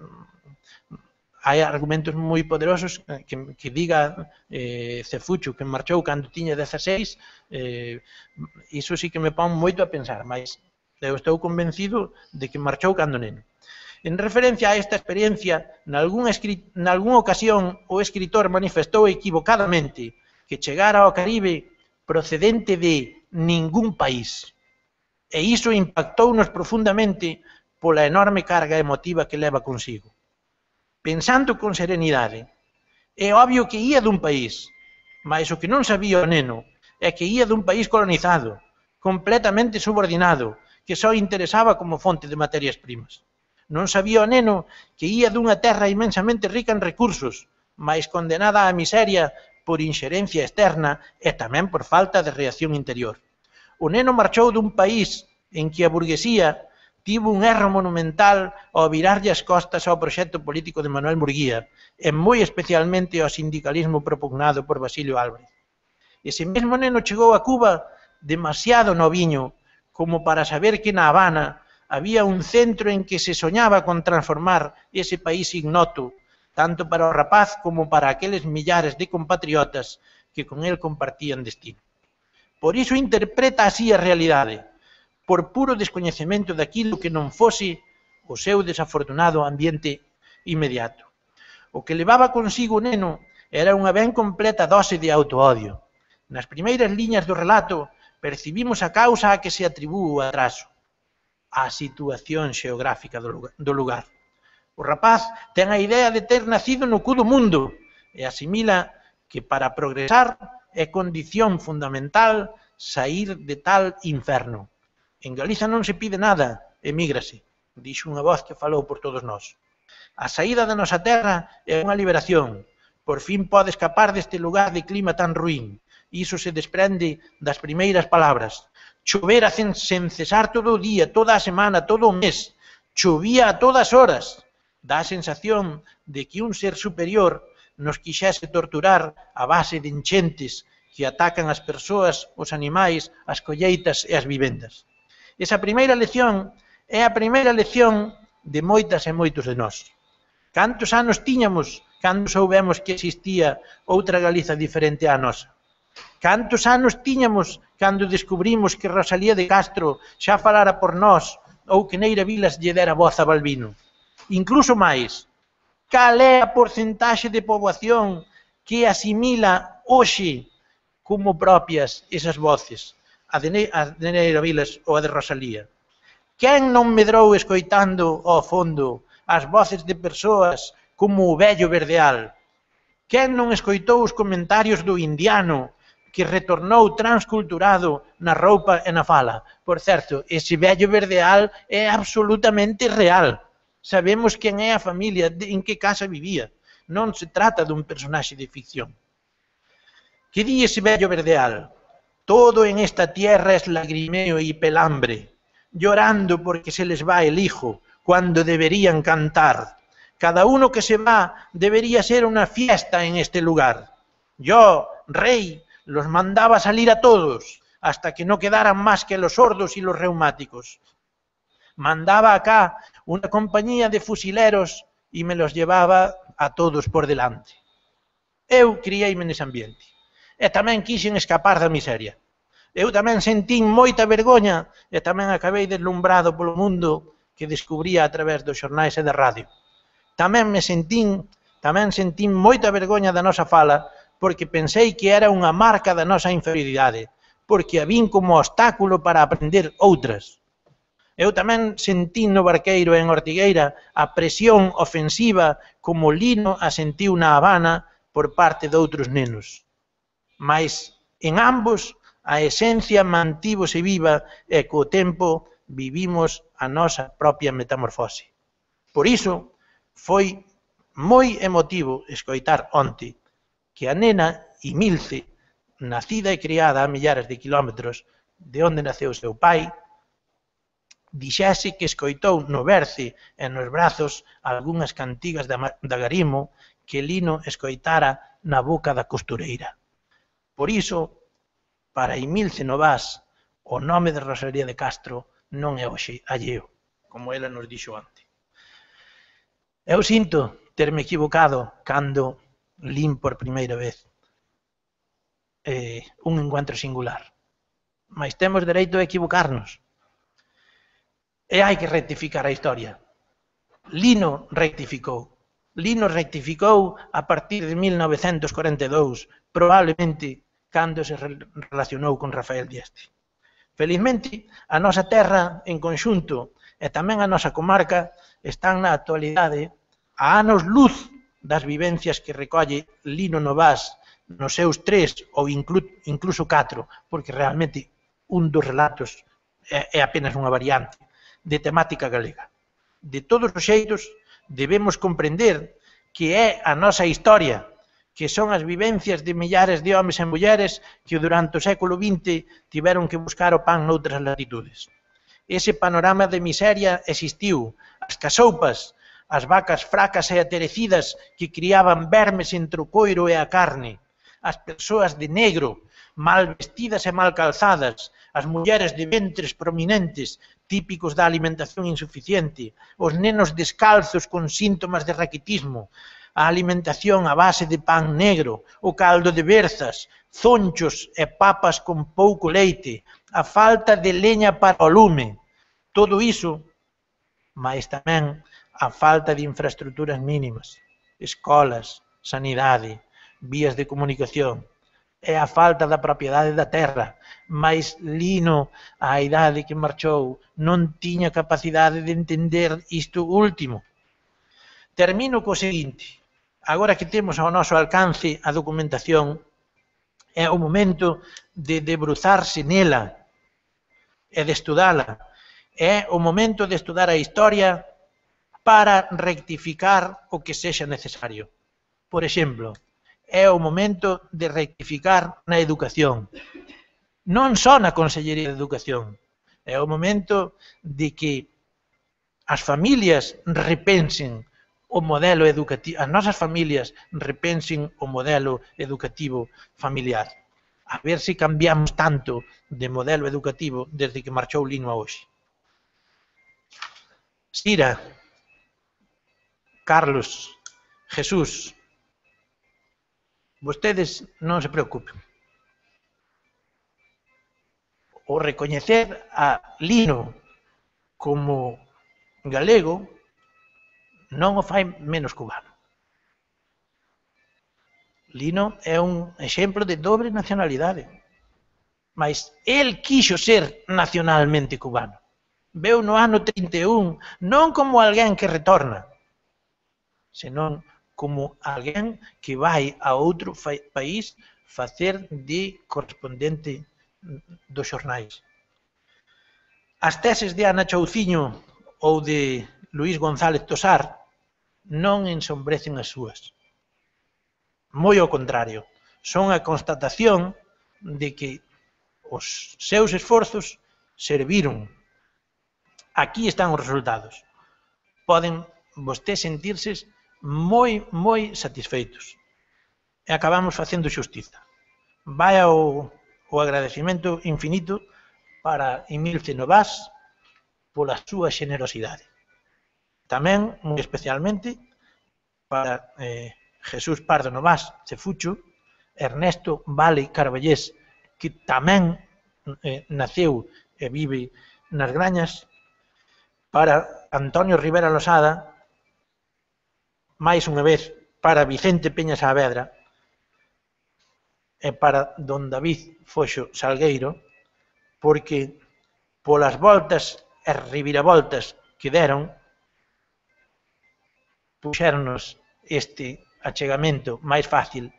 hai argumentos moi poderosos que, que diga eh, Cefucho que marchou cando tiña dezaseis, eh, iso sí que me pon moito a pensar, mas eu estou convencido de que marchou cando neno. En referencia a esta experiencia, nalgún, nalgún ocasión o escritor manifestou equivocadamente que chegara ao Caribe procedente de ningún país, e iso impactounos profundamente pola enorme carga emotiva que leva consigo. Pensando con serenidade, é obvio que ía dun país, mas o que non sabía o neno é que ía dun país colonizado, completamente subordinado, que só interesaba como fonte de materias primas. Non sabía o neno que ía dunha terra inmensamente rica en recursos, mas condenada á miseria por inxerencia externa e tamén por falta de reacción interior. O neno marchou dun país en que a burguesía tivo un erro monumental ao virarlle as costas ao proxecto político de Manuel Murguía e moi especialmente ao sindicalismo propugnado por Basilio Álvarez. Ese mesmo neno chegou a Cuba demasiado noviño como para saber que na Habana había un centro en que se soñaba con transformar ese país ignoto, tanto para o rapaz como para aqueles millares de compatriotas que con el compartían destino. Por iso interpreta así a realidade, por puro descoñecemento daquilo que non fose o seu desafortunado ambiente inmediato. O que levaba consigo o neno era unha ben completa dose de autoodio. Nas primeiras liñas do relato percibimos a causa a que se atribúe o atraso, a situación xeográfica do lugar. O rapaz ten a idea de ter nacido no cu do mundo e asimila que para progresar é condición fundamental saír de tal inferno. En Galiza non se pide nada, emígrase, dixo unha voz que falou por todos nós. A saída da nosa terra é unha liberación. Por fin pode escapar deste lugar de clima tan ruín. Iso se desprende das primeiras palabras. Chovera sen cesar todo o día, toda a semana, todo o mes. Chovía a todas horas. Dá a sensación de que un ser superior nos quixese torturar a base de enchentes que atacan as persoas, os animais, as colleitas e as vivendas. Esa primeira lección é a primeira lección de moitas e moitos de nós. Cantos anos tiñamos cando soubemos que existía outra Galiza diferente á nosa? Cantos anos tiñamos cando descubrimos que Rosalía de Castro xa falara por nós ou que Neira Vilas lle dera voz a Balbino? Incluso máis, cal é a porcentaxe de poboación que asimila hoxe como propias esas voces, a de Neira Vilas ou a de Rosalía? Quen non medrou escoitando ao fondo as voces de persoas como o vello Verdeal? Quen non escoitou os comentarios do indiano que retornou transculturado na roupa e na fala? Por certo, ese vello Verdeal é absolutamente real. Sabemos quen é a familia, en que casa vivía. Non se trata dun personaxe de ficción. Que di ese vello Verdeal? Todo en esta tierra es lagrimeo y pelambre, llorando porque se les va el hijo, cuando deberían cantar. Cada uno que se va debería ser una fiesta en este lugar. Yo, rey, los mandaba salir a todos, hasta que no quedaran más que los sordos y los reumáticos. Mandaba acá una compañía de fusileros y me los llevaba a todos por delante. Eu criei-me nese ambiente. E tamén quixen escapar da miseria. Eu tamén sentín moita vergoña e tamén acabei deslumbrado polo mundo que descubría a través dos xornais e da radio. Tamén me sentín, tamén sentín moita vergoña da nosa fala porque pensei que era unha marca da nosa inferioridade, porque a vin como obstáculo para aprender outras. Eu tamén sentín no Barqueiro e en Ortigueira a presión ofensiva como Lino a sentiu na Habana por parte de outros nenos. Mais en ambos a esencia mantívose viva e co tempo vivimos a nosa propia metamorfose. Por iso foi moi emotivo escoitar onte que a nena Imilce, nacida e criada a millares de kilómetros de onde naceu seu pai, dixese que escoitou no berce e nos brazos algunhas cantigas da Garimo que Lino escoitara na boca da costureira. Por iso, para Imilce Novás, o nome de Rosalía de Castro non é hoxe alleo, como ela nos dixo antes. Eu sinto terme equivocado cando lin por primeira vez eh, un encuentro singular, mas temos dereito a equivocarnos. E hai que rectificar a historia. Lino rectificou. Lino rectificou a partir de mil novecentos corenta e dous, probablemente cando se relacionou con Rafael Dieste. Felizmente, a nosa terra en conxunto e tamén a nosa comarca están na actualidade a anos luz das vivencias que recolle Lino Novás nos seus tres ou incluso catro, porque realmente un dos relatos é apenas unha variante de temática galega. De todos os xeitos, debemos comprender que é a nosa historia, que son as vivencias de millares de homes e mulleres que durante o século vinte tiveron que buscar o pan noutras latitudes. Ese panorama de miseria existiu. As casoupas, as vacas fracas e aterecidas que criaban vermes entre o coiro e a carne, as persoas de negro, mal vestidas e mal calzadas, as mulleres de ventres prominentes, típicos da alimentación insuficiente, os nenos descalzos con síntomas de raquitismo, a alimentación a base de pan negro, o caldo de berzas, zonchos e papas con pouco leite, a falta de leña para o lume. Todo iso, mais tamén a falta de infraestructuras mínimas, escolas, sanidade, vías de comunicación, e a falta da propiedade da terra, mais Lino, á idade que marchou, non tiña capacidade de entender isto último. Termino co seguinte: agora que temos ao noso alcance a documentación, é o momento de debruzarse nela e de estudala. É o momento de estudar a historia para rectificar o que sexa necesario. Por exemplo, é o momento de rectificar na educación. Non só na Consellería de Educación. É o momento de que as familias repensen o modelo educativo, as nosas familias repensen o modelo educativo familiar. A ver se cambiamos tanto de modelo educativo desde que marchou Lino a hoxe. Sira, Carlos, Jesús, vostedes non se preocupen. O recoñecer a Lino como galego non o fai menos cubano. Lino é un exemplo de dobre nacionalidade, mas el quixo ser nacionalmente cubano. Veu no ano trinta e un non como alguén que retorna, senón como alguén que vai a outro país facer de correspondente dos xornais. As teses de Ana Chouciño ou de Luís González Tosar non ensombrecen as súas. Moi ao contrario, son a constatación de que os seus esforzos serviron. Aquí están os resultados. Poden vostedes sentirse moi, moi satisfeitos. E acabamos facendo xustiza. Vai ao, o agradecimento infinito para Emilce Novás pola súa xenerosidade. Tamén, moi especialmente, para eh, Jesús Pardo Novás Cefucho, Ernesto Vale Carballés, que tamén eh, naceu e vive nas Grañas, para Antonio Rivera Losada, máis unha vez para Vicente Peña Saavedra e para don David Foxo Salgueiro, porque polas voltas e reviravoltas que deron, puxéronos este achegamento máis fácil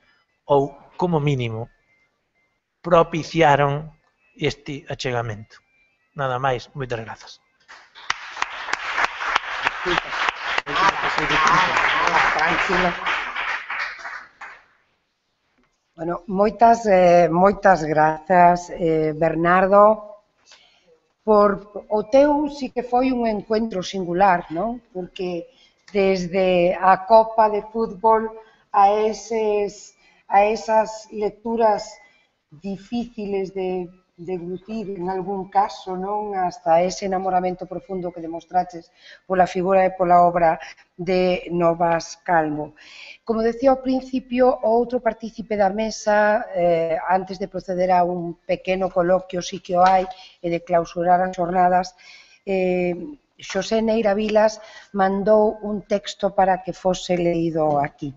ou, como mínimo, propiciaron este achegamento. Nada máis, moitas grazas. Bueno, moitas, eh, moitas grazas, eh, Bernardo, por o teu sí que foi un encuentro singular, non? Porque desde a Copa de Fútbol a, eses, a esas lecturas difíciles de deglutir en algún caso, non? Hasta ese enamoramento profundo que demostraches pola figura e pola obra de Novas Calvo. Como decía ao principio, o outro partícipe da mesa, eh, antes de proceder a un pequeno coloquio, si que o hai, e de clausurar as jornadas, eh, Xosé Neira Vilas mandou un texto para que fose leído aquí.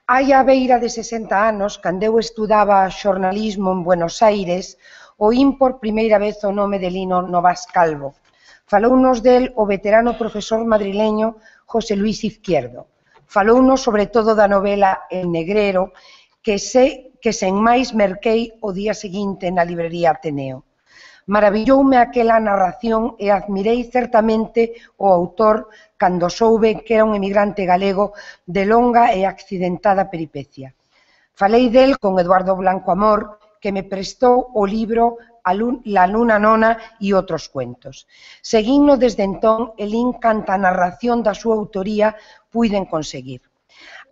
Hai a beira de sesenta anos, cando eu estudaba xornalismo en Buenos Aires, oín por primeira vez o nome de Lino Novás Calvo. Falounos del o veterano profesor madrileño José Luis Izquierdo. Falounos sobre todo da novela El Negrero, que sei que sen máis merquei o día seguinte na librería Ateneo. Maravilloume aquela narración e admirei certamente o autor cando soube que era un emigrante galego de longa e accidentada peripecia. Falei del con Eduardo Blanco Amor, que me prestou o libro La luna nona e outros cuentos. Seguindo desde entón e lin canta narración da súa autoría puiden conseguir.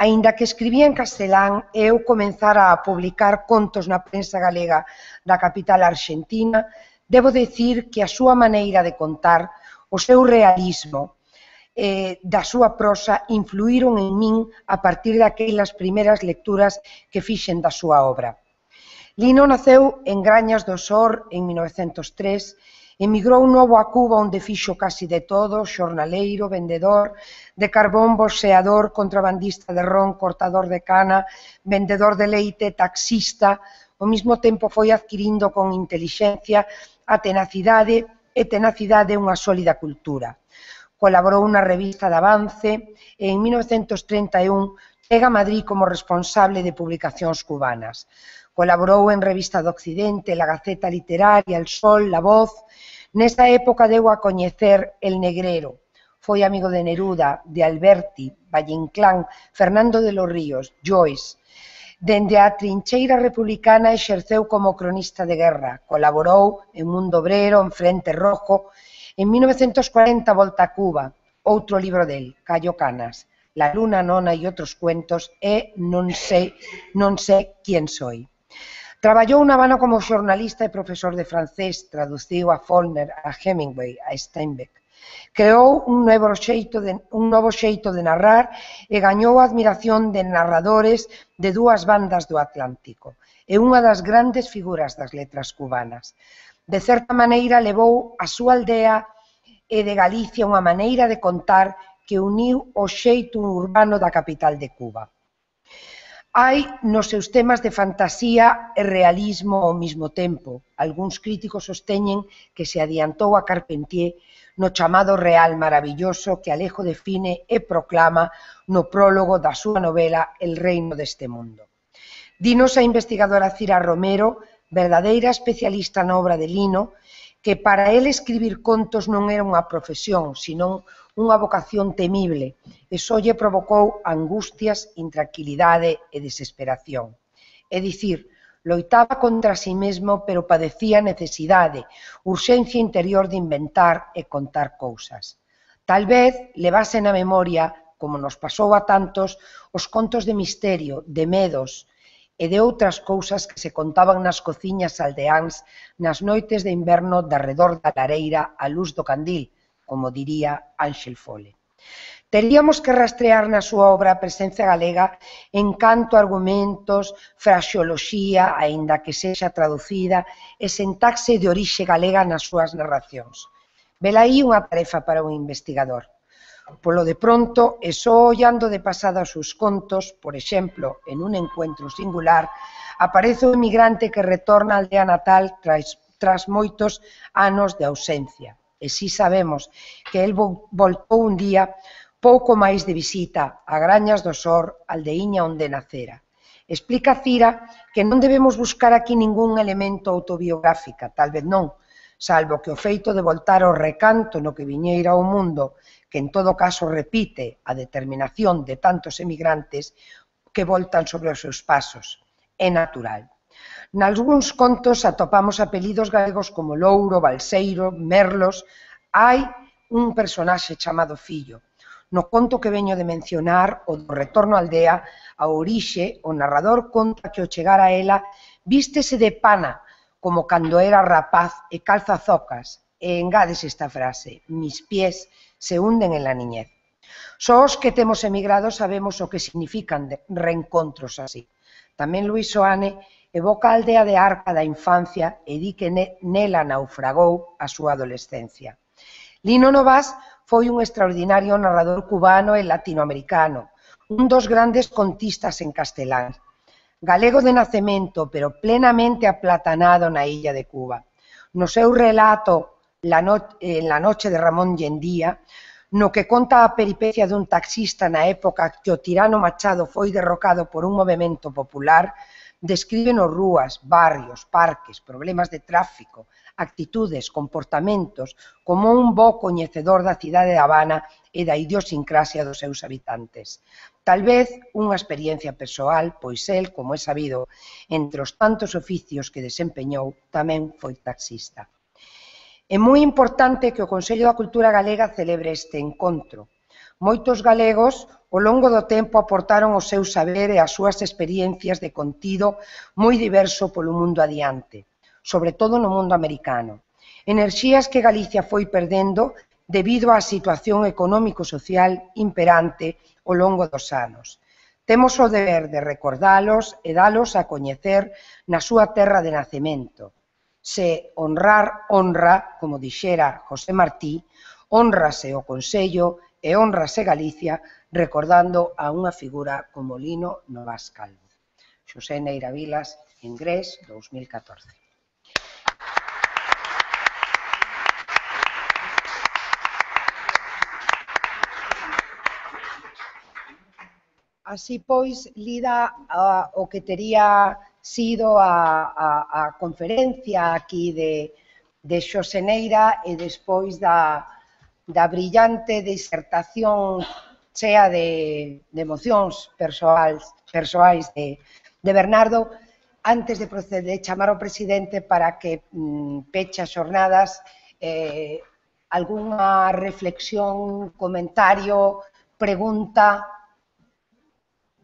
Aínda que escribía en castelán e eu comenzara a publicar contos na prensa galega da capital arxentina, debo dicir que a súa maneira de contar, o seu realismo eh, da súa prosa influíron en min a partir daquelas primeiras lecturas que fixen da súa obra. Lino naceu en Grañas do Sor en mil novecentos tres, emigrou novo a Cuba onde fixo casi de todo, xornaleiro, vendedor de carbón, bolseador, contrabandista de ron, cortador de cana, vendedor de leite, taxista. Ao mesmo tempo foi adquirindo con intelixencia a tenacidade e tenacidade unha sólida cultura. Colaborou na revista de Avance e en mil novecentos trinta e un chega a Madrid como responsable de publicacións cubanas. Colaborou en Revista do Occidente, La Gaceta Literaria, El Sol, La Voz. Nesta época deu a coñecer El Negrero. Foi amigo de Neruda, de Alberti, Valle Inclán, Fernando de los Ríos, Joyce. Dende a trincheira republicana exerceu como cronista de guerra. Colaborou en Mundo Obrero, en Frente Rojo. En mil novecentos cuarenta volta a Cuba. Outro libro del, Cayo Canas, La luna nona e outros cuentos e Non sei, non sei quién soy. Traballou na Habana como xornalista e profesor de francés, traduciu a Faulkner, a Hemingway, a Steinbeck. Creou un novo xeito de, un novo xeito de narrar e gañou a admiración de narradores de dúas bandas do Atlántico. É unha das grandes figuras das letras cubanas. De certa maneira, levou a súa aldea e de Galicia unha maneira de contar que uniu o xeito urbano da capital de Cuba. Hai nos seus temas de fantasía e realismo ao mesmo tempo. Algúns críticos sosteñen que se adiantou a Carpentier no chamado Real Maravilloso que Alejo define e proclama no prólogo da súa novela El reino deste mundo. Dinos a investigadora Cira Romero, verdadeira especialista na obra de Lino, que para el escribir contos non era unha profesión, senón unha vocación temible, e só lle provocou angustias, intranquilidade e desesperación. É dicir, loitaba contra si mesmo, pero padecía necesidade, urxencia interior de inventar e contar cousas. Tal vez levase na memoria, como nos pasou a tantos, os contos de misterio, de medos e de outras cousas que se contaban nas cociñas aldeáns nas noites de inverno de arredor da lareira á luz do candil, como diría Ángel Fole. Teríamos que rastrear na súa obra a presencia galega en canto a argumentos, fraseoloxía, aínda que sexa traducida, e sintaxe de orixe galega nas súas narracións. Velaí unha tarefa para un investigador. Polo de pronto, e só ollando de pasada os seus contos, por exemplo, en un encuentro singular, aparece o emigrante que retorna á aldea natal tras, tras moitos anos de ausencia. E si sabemos que el voltou un día pouco máis de visita a Grañas do Sor, aldeiña onde nacera. Explica Cira que non debemos buscar aquí ningún elemento autobiográfica, tal vez non, salvo que o feito de voltar ao recanto no que viñeira ao mundo, que en todo caso repite a determinación de tantos emigrantes que voltan sobre os seus pasos. É natural. Nalgúns contos atopamos apelidos galegos como Louro, Balseiro, Merlos. Hai un personaxe chamado Fillo. No conto que veño de mencionar, o do retorno á aldea, a orixe, o narrador conta que ao chegar a ela vístese de pana, como cando era rapaz e calza zocas, e engades esta frase: mis pies se hunden en la niñez. Só os que temos emigrado sabemos o que significan reencontros así. Tamén Luis Soane evoca a aldea de Arca da infancia e di que nela naufragou a súa adolescencia. Lino Novás foi un extraordinario narrador cubano e latinoamericano, un dos grandes contistas en castelán. Galego de nacemento, pero plenamente aplatanado na illa de Cuba. No seu relato La no en la noche de Ramón Yendía, no que conta a peripecia dun taxista na época que o tirano Machado foi derrocado por un movemento popular, describen os rúas, barrios, parques, problemas de tráfico, actitudes, comportamentos, como un bo coñecedor da cidade de Habana e da idiosincrasia dos seus habitantes. Tal vez unha experiencia persoal, pois el, como é sabido, entre os tantos oficios que desempeñou, tamén foi taxista. É moi importante que o Consello da Cultura Galega celebre este encontro. Moitos galegos, ao longo do tempo, aportaron o seu saber e as súas experiencias de contido moi diverso polo mundo adiante, sobre todo no mundo americano. Enerxías que Galicia foi perdendo debido á situación económico-social imperante ao longo dos anos. Temos o deber de recordalos e dalos a coñecer na súa terra de nacemento. Se honrar honra, como dixera José Martí, honrase o Consello e honrase Galicia recordando a unha figura como Lino Novas Calvo. Xosé Neira Vilas, Ingrés, dos mil catorce. Así pois, lida a, o que tería sido a, a, a conferencia aquí de, de Xosé Neira e despois da, da brillante disertación chea de, de emocións persoais, persoais de, de Bernardo, antes de proceder, chamar ao presidente para que mm, peche as xornadas, eh, algunha reflexión, comentario, pregunta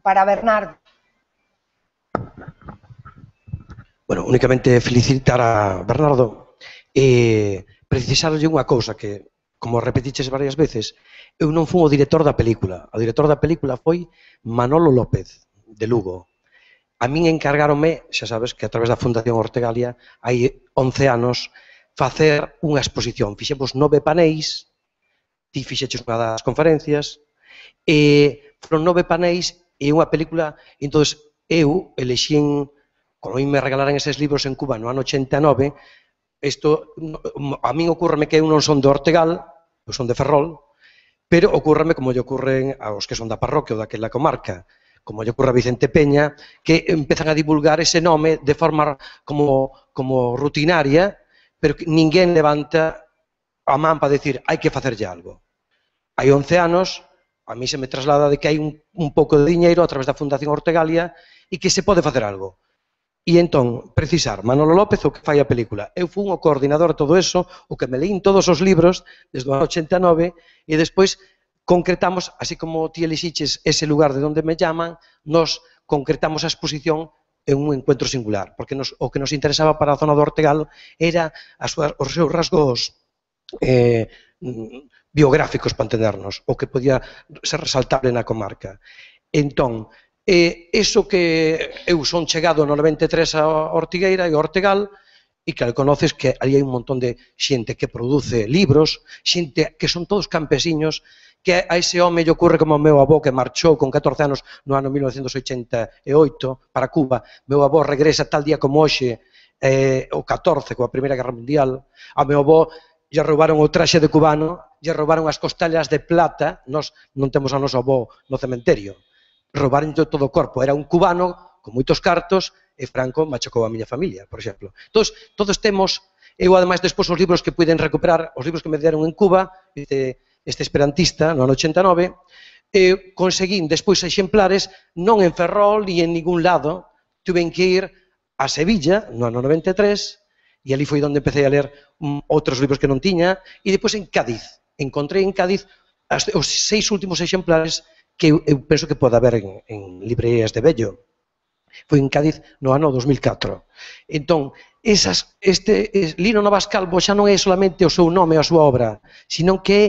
para Bernardo. Bueno, únicamente felicitar a Bernardo e precisarlle unha cousa que, como repetiches varias veces, eu non fui o director da película. O director da película foi Manolo López, de Lugo. A min encargáronme, xa sabes, que a través da Fundación Ortegalia, hai once anos, facer unha exposición. Fixemos nove paneis, ti fixeches unha das conferencias, e foron nove paneis e unha película, entón eu elexín, como me regalaran eses libros en Cuba no ano ochenta e nove, isto, a min ocurreme que eu non son de Ortegal, eu son de Ferrol, pero ocurreme como lle ocurren aos que son da parroquia ou daquela comarca, como lle ocurre a Vicente Peña, que empezan a divulgar ese nome de forma como, como rutinaria, pero que ninguén levanta a man para decir hai que facerlle algo. Hai once anos, a mí se me traslada de que hai un, un pouco de diñeiro a través da Fundación Ortegalia e que se pode facer algo. E entón, precisar, Manolo López o que fai a película. Eu fui o coordinador de todo eso, o que me leín todos os libros desde o ano ochenta e nove e despois concretamos, así como ti elixiches ese lugar de onde me llaman, nos concretamos a exposición en un encuentro singular, porque nos, o que nos interesaba para a zona do Ortegal era as súas, os seus rasgos eh, biográficos, para entendernos, o que podía ser resaltable na comarca. Entón, eh, eso que eu son chegado no noventa e tres a Ortigueira e Ortegal, e que conoces que ali hai un montón de xente que produce libros, xente que son todos campesiños, que a ese home lle ocurre como o meu avó que marchou con catorce anos no ano mil novecentos oitenta e oito para Cuba. Meu avó regresa tal día como hoxe, eh, o catorce, coa Primeira Guerra Mundial. A meu avó lle roubaron o traxe de cubano, lle roubaron as costellas de plata, nós non temos a noso avó no cementerio, roubaron todo o corpo, era un cubano con moitos cartos e Franco machacou a miña familia, por exemplo. Entón, todos temos, eu ademais despois os libros que puiden recuperar, os libros que me deron en Cuba, este, este esperantista, no ano ochenta e nove, e conseguín despois exemplares, non en Ferrol ni en ningún lado, tuven que ir a Sevilla, no ano noventa e tres, e ali foi onde empecé a ler um, outros libros que non tiña, e depois en Cádiz. Encontrei en Cádiz as, os seis últimos exemplares que eu, eu penso que pode haber en, en librerías de vello. Foi en Cádiz no ano dos mil catro. Entón, esas, este, es, Lino Novas Calvo xa non é solamente o seu nome e a súa obra, sino que é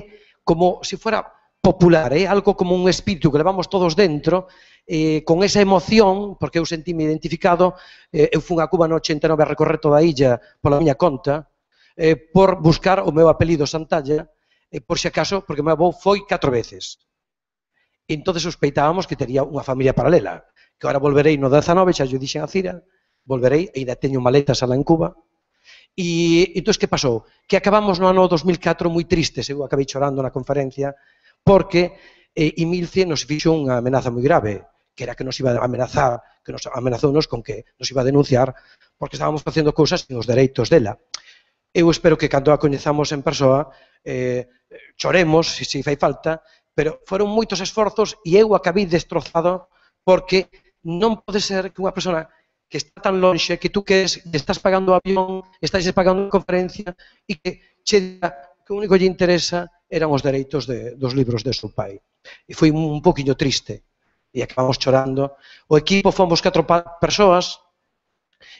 como se fuera popular, é algo como un espírito que levamos todos dentro, eh, con esa emoción, porque eu sentíme identificado, eh, eu fui a Cuba no ochenta e nove a recorrer toda a illa pola miña conta, eh, por buscar o meu apelido Santalla, eh, por se acaso, porque o meu avó foi catro veces. E entón sospeitábamos que tería unha familia paralela, que agora volverei no dezanove, xa yo dixen a Cira, volverei, e ainda teño maletas alá en Cuba. E entón, que pasou? Que acabamos no ano dos mil catro moi tristes, eu acabei chorando na conferencia, porque eh, Imilce nos fixo unha amenaza moi grave, que era que nos iba a amenazar, que nos amenazounos con que nos iba a denunciar, porque estábamos facendo cousas sin os dereitos dela. Eu espero que cando a coñezamos en persoa, eh, choremos, se si fai falta, pero foron moitos esforzos e eu acabei destrozado porque non pode ser que unha persona que está tan lonxe, que tú queres, que estás pagando o avión, estás pagando a conferencia e que che diga que o único que lle interesa eran os dereitos de, dos libros de seu pai. E foi un poquinho triste e acabamos chorando. O equipo fomos catro persoas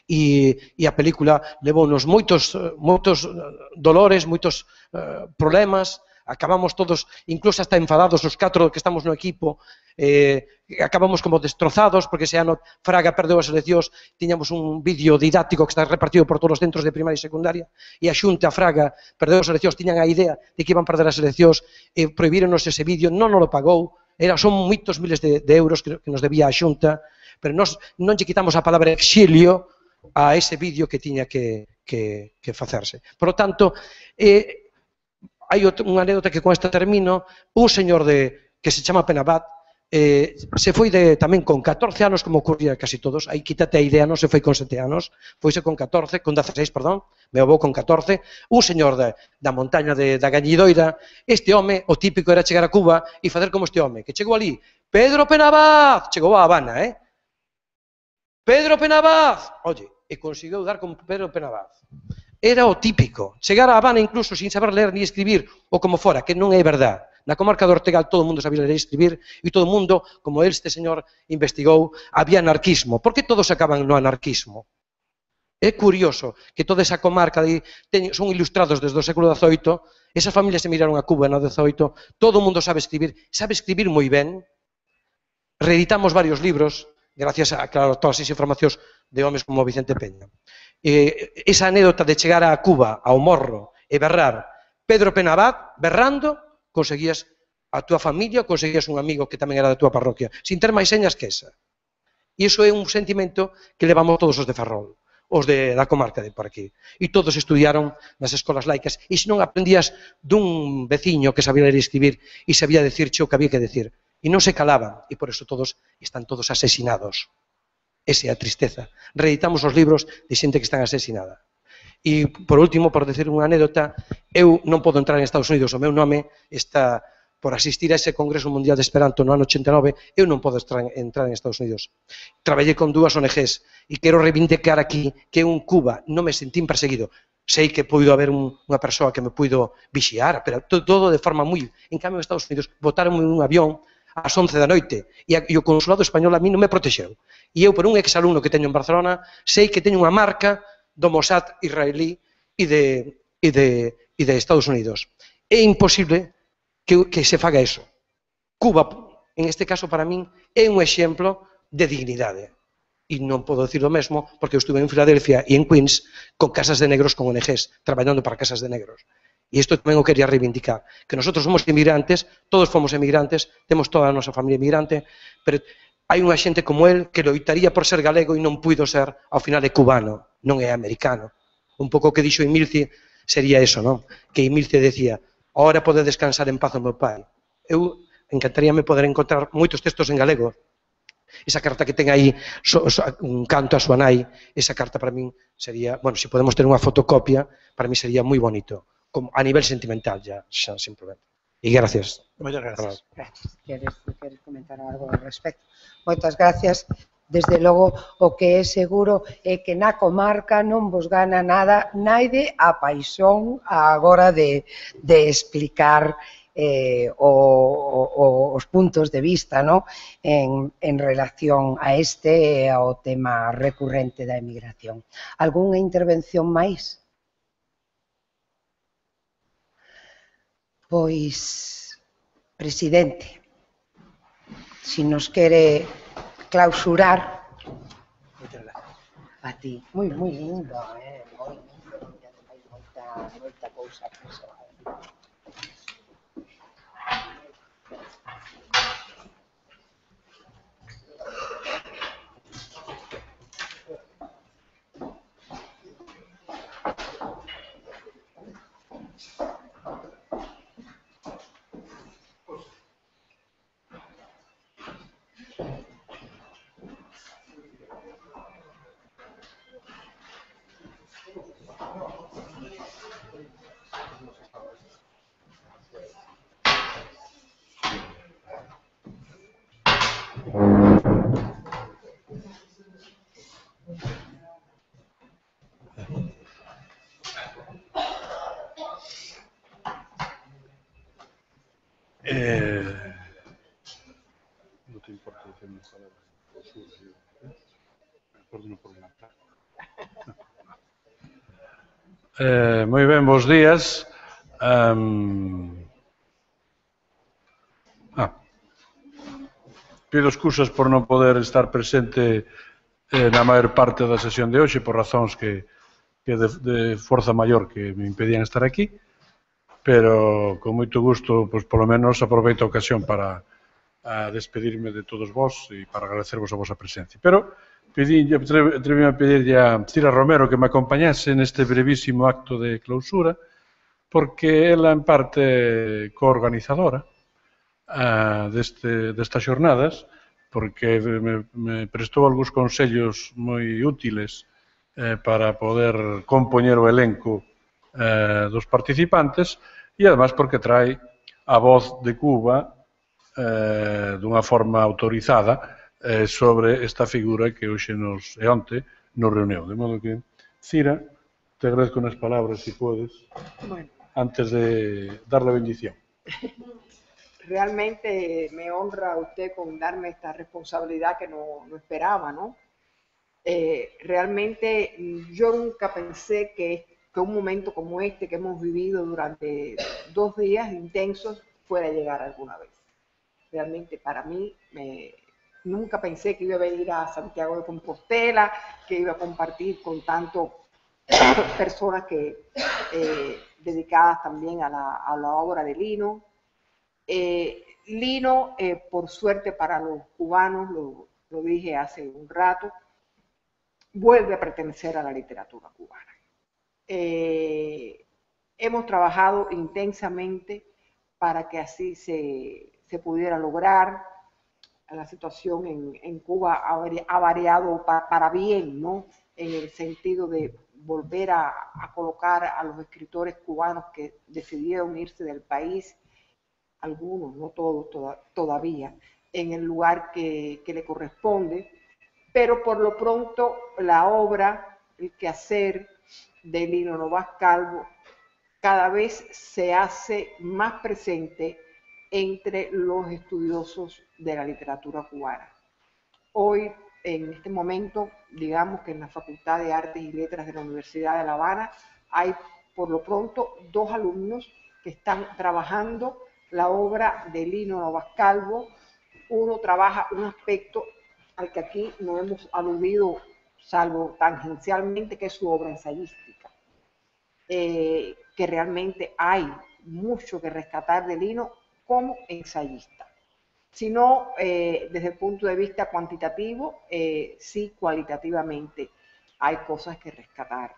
e, e a película levounos moitos, moitos dolores, moitos uh, problemas, acabamos todos, incluso hasta enfadados os catro que estamos no equipo, eh, acabamos como destrozados, porque ese ano Fraga perdeu as eleccións, tiñamos un vídeo didáctico que está repartido por todos os centros de primaria e secundaria, e a Xunta Fraga perdeu as eleccións, tiñan a idea de que iban perder as eleccións, e prohibironos ese vídeo, non nos lo pagou, era, son moitos miles de, de euros que, que nos debía a Xunta, pero nos, non lle quitamos a palabra exilio a ese vídeo que tiña que, que, que facerse. Por lo tanto, eh, hai unha anécdota que con esta termino, un señor de, que se chama Penabad, eh, se foi de, tamén con catorce anos, como ocurría casi todos, aí quítate a idea, non se foi con sete anos, foise con catorce, con dezaseis, perdón, me avó con catorce, un señor de, da montaña de, da Gañidoira, este home, o típico era chegar a Cuba e facer como este home, que chegou ali, Pedro Penabad, chegou a Habana, eh? Pedro Penabad, oye, e conseguiu dar con Pedro Penabad. Era o típico, chegar a Habana incluso sin saber ler ni escribir, ou como fora, que non é verdad. Na comarca do Ortegal todo o mundo sabía ler e escribir, e todo o mundo, como este señor investigou, había anarquismo. Por que todos acaban no anarquismo? É curioso que toda esa comarca de, son ilustrados desde o século dezoito, esas familias se miraron a Cuba no dezoito, todo o mundo sabe escribir, sabe escribir moi ben, reeditamos varios libros, gracias a, claro, todas as informacións de homes como Vicente Peña. Eh, esa anécdota de chegar a Cuba, ao morro, e berrar Pedro Penabad, berrando, conseguías a túa familia, conseguías un amigo que tamén era da túa parroquia, sin ter máis señas que esa. E iso é un sentimento que levamos todos os de Ferrol, os de, da comarca de por aquí. E todos estudiaron nas escolas laicas, e se non aprendías dun veciño que sabía ler e escribir e sabía decirche o que había que decir, e non se calaban, e por eso todos están todos asesinados. Esa é a tristeza. Reeditamos os libros de xente que están asesinada. E, por último, por decir unha anécdota, eu non podo entrar en Estados Unidos, o meu nome está por asistir a ese Congreso Mundial de Esperanto no ano ochenta e nove, eu non podo entrar en Estados Unidos. Traballei con dúas O N Ges e quero reivindicar aquí que eu en Cuba non me sentín perseguido. Sei que puido haber un, unha persoa que me puido vixiar, pero todo de forma moi... En cambio, en Estados Unidos, botaron un avión ás once da noite, e, a, e o consulado español a mí non me protexeu. E eu, por un exalumno que teño en Barcelona, sei que teño unha marca do Mossad israelí e de, e de, e de Estados Unidos. É imposible que, que se faga eso. Cuba, en este caso, para min, é un exemplo de dignidade. E non podo dicir o mesmo porque eu estuve en Filadelfia e en Queens con casas de negros con O N Ges, traballando para casas de negros. E isto tamén o quería reivindicar, que nosotros somos inmigrantes, todos fomos emigrantes, temos toda a nosa familia emigrante, pero hai unha xente como él que loitaría por ser galego e non puido ser, ao final é cubano, non é americano. Un pouco que dixo Emilce sería eso, non? Que Emilce decía, ahora pode descansar en paz o meu pai. Eu encantaríame poder encontrar moitos textos en galego. Esa carta que ten aí so, so, un canto a súa nai, esa carta para min sería, bueno, se podemos ter unha fotocopia, para min sería moi bonito. Como a nivel sentimental ya, xa, simplemente. E gracias. Moitas gracias. Gracias. Queres, queres comentar algo ao respecto? Moitas gracias. Desde logo, o que é seguro é que na comarca non vos gana nada, naide a paixón agora de, de explicar eh, o, o, os puntos de vista, ¿no? en, en relación a este ao tema recurrente da emigración. Algúnha intervención máis? Pois, presidente, si nos quere clausurar. Moitas gracias. A ti. Moi, moi lindo, eh? Moi lindo. Moita, moita cousa persoal. Eh, no te importa decir una palabra. Eh, moi ben, bons días. Um, ah, pido excusas por non poder estar presente eh, na maior parte da sesión de hoxe por razóns que, que de, de forza maior que me impedían estar aquí, pero con moito gusto, pois, polo menos aproveito a ocasión para a despedirme de todos vós e para agradecervos a vosa presencia. Pero atrevíame a pedirlle a Cira Romero que me acompañase neste brevísimo acto de clausura, porque ela, en parte, coorganizadora uh, deste, destas xornadas, porque me, me prestou algúns consellos moi útiles eh, para poder compoñer o elenco eh, dos participantes e, además, porque trae a voz de Cuba eh, dunha forma autorizada eh, sobre esta figura que hoxe nos, e onte nos reuneu. De modo que, Cira, te agradezco unas palabras, si podes, bueno, antes de dar la bendición. Realmente me honra a usted con darme esta responsabilidad que no, no esperaba, ¿no? Eh, realmente yo nunca pensé que, que un momento como este que hemos vivido durante dos días intensos fuera a llegar alguna vez. Realmente para mí, me, nunca pensé que iba a venir a Santiago de Compostela, que iba a compartir con tantas personas que, eh, dedicadas también a la, a la obra de Lino. Eh, Lino, eh, por suerte para los cubanos, lo, lo dije hace un rato, vuelve a pertenecer a la literatura cubana. Eh, hemos trabajado intensamente para que así se, se pudiera lograr. La situación en, en Cuba ha, ha variado para, para bien, ¿no? En el sentido de volver a, a colocar a los escritores cubanos que decidieron irse del país, algunos, no todos toda, todavía, en el lugar que, que le corresponde, pero por lo pronto la obra, el quehacer de Lino Novas Calvo cada vez se hace más presente entre los estudiosos de la literatura cubana. Hoy, en este momento, digamos que en la Facultad de Artes y Letras de la Universidad de La Habana hay, por lo pronto, dos alumnos que están trabajando la obra de Lino Novas Calvo. Uno trabaja un aspecto al que aquí no hemos aludido, salvo tangencialmente, que es su obra ensayística, eh, que realmente hay mucho que rescatar de Lino como ensayista, sino eh, desde el punto de vista cuantitativo, eh, sí cualitativamente hay cosas que rescatar.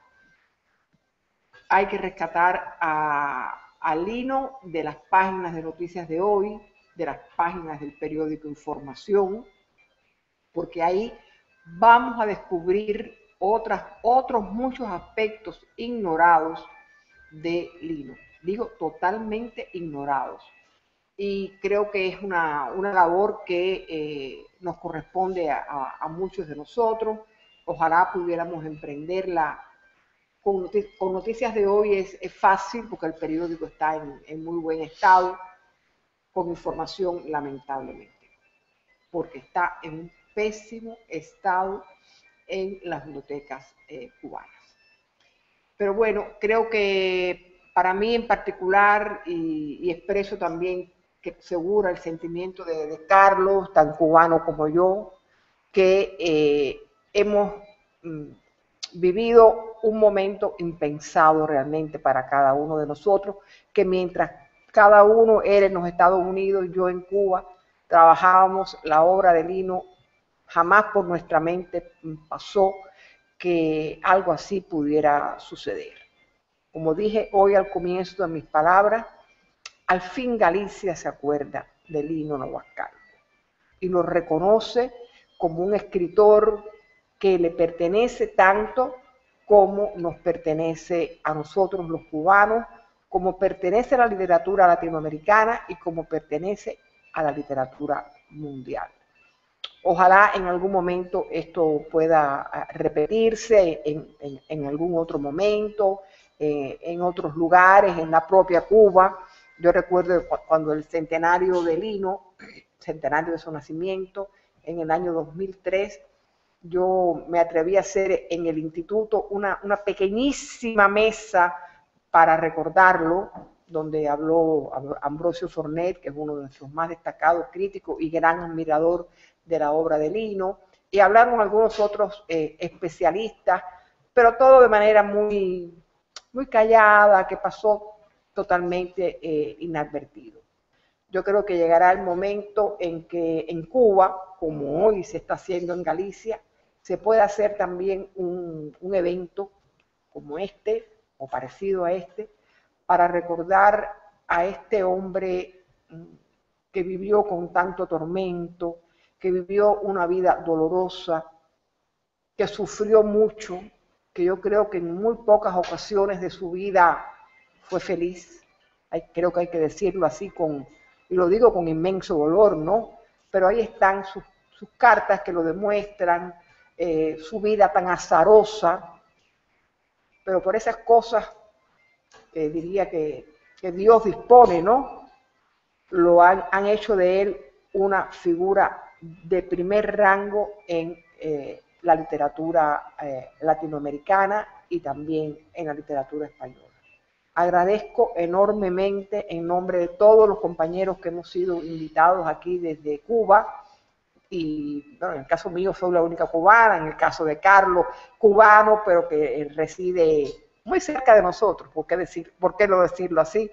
Hay que rescatar a, a Lino de las páginas de noticias de hoy, de las páginas del periódico Información, porque ahí vamos a descubrir otras, otros muchos aspectos ignorados de Lino. Digo, totalmente ignorados. Y creo que es una, una labor que eh, nos corresponde a, a, a muchos de nosotros. Ojalá pudiéramos emprenderla. Con, notic con noticias de hoy es, es fácil porque el periódico está en, en muy buen estado, con Información lamentablemente, porque está en un pésimo estado en las bibliotecas eh, cubanas. Pero bueno, creo que para mí en particular, y, y expreso también que segura el sentimiento de, de Carlos, tan cubano como yo, que eh, hemos mm, vivido un momento impensado realmente para cada uno de nosotros, que mientras cada uno era en los Estados Unidos, yo en Cuba, trabajábamos la obra de Lino, jamás por nuestra mente pasó que algo así pudiera suceder. Como dije hoy al comienzo de mis palabras, al fin Galicia se acuerda de Lino Novas Calvo y lo reconoce como un escritor que le pertenece tanto como nos pertenece a nosotros los cubanos, como pertenece a la literatura latinoamericana y como pertenece a la literatura mundial. Ojalá en algún momento esto pueda repetirse en, en, en algún otro momento, eh, en otros lugares, en la propia Cuba, Yo recuerdo cuando el centenario de Lino, centenario de su nacimiento, en el año dos mil tres, yo me atreví a hacer en el instituto una, una pequeñísima mesa para recordarlo, donde habló Ambrosio Fornet, que es uno de nuestros más destacados críticos y gran admirador de la obra de Lino, y hablaron algunos otros eh, especialistas, pero todo de manera muy, muy callada, que pasó totalmente eh, inadvertido. Yo creo que llegará el momento en que en Cuba, como hoy se está haciendo en Galicia, se pueda hacer también un, un evento como este, o parecido a este, para recordar a este hombre que vivió con tanto tormento, que vivió una vida dolorosa, que sufrió mucho, que yo creo que en muy pocas ocasiones de su vida fue feliz. Hay, creo que hay que decirlo así, con, y lo digo con inmenso dolor, ¿no? Pero ahí están sus, sus cartas que lo demuestran, eh, su vida tan azarosa, pero por esas cosas eh, diría que, que Dios dispone, ¿no? Lo han, han hecho de él una figura de primer rango en eh, la literatura eh, latinoamericana y también en la literatura española. Agradezco enormemente en nombre de todos los compañeros que hemos sido invitados aquí desde Cuba, y bueno, en el caso mío soy la única cubana, en el caso de Carlos, cubano, pero que reside muy cerca de nosotros, ¿por qué, decir, por qué no decirlo así?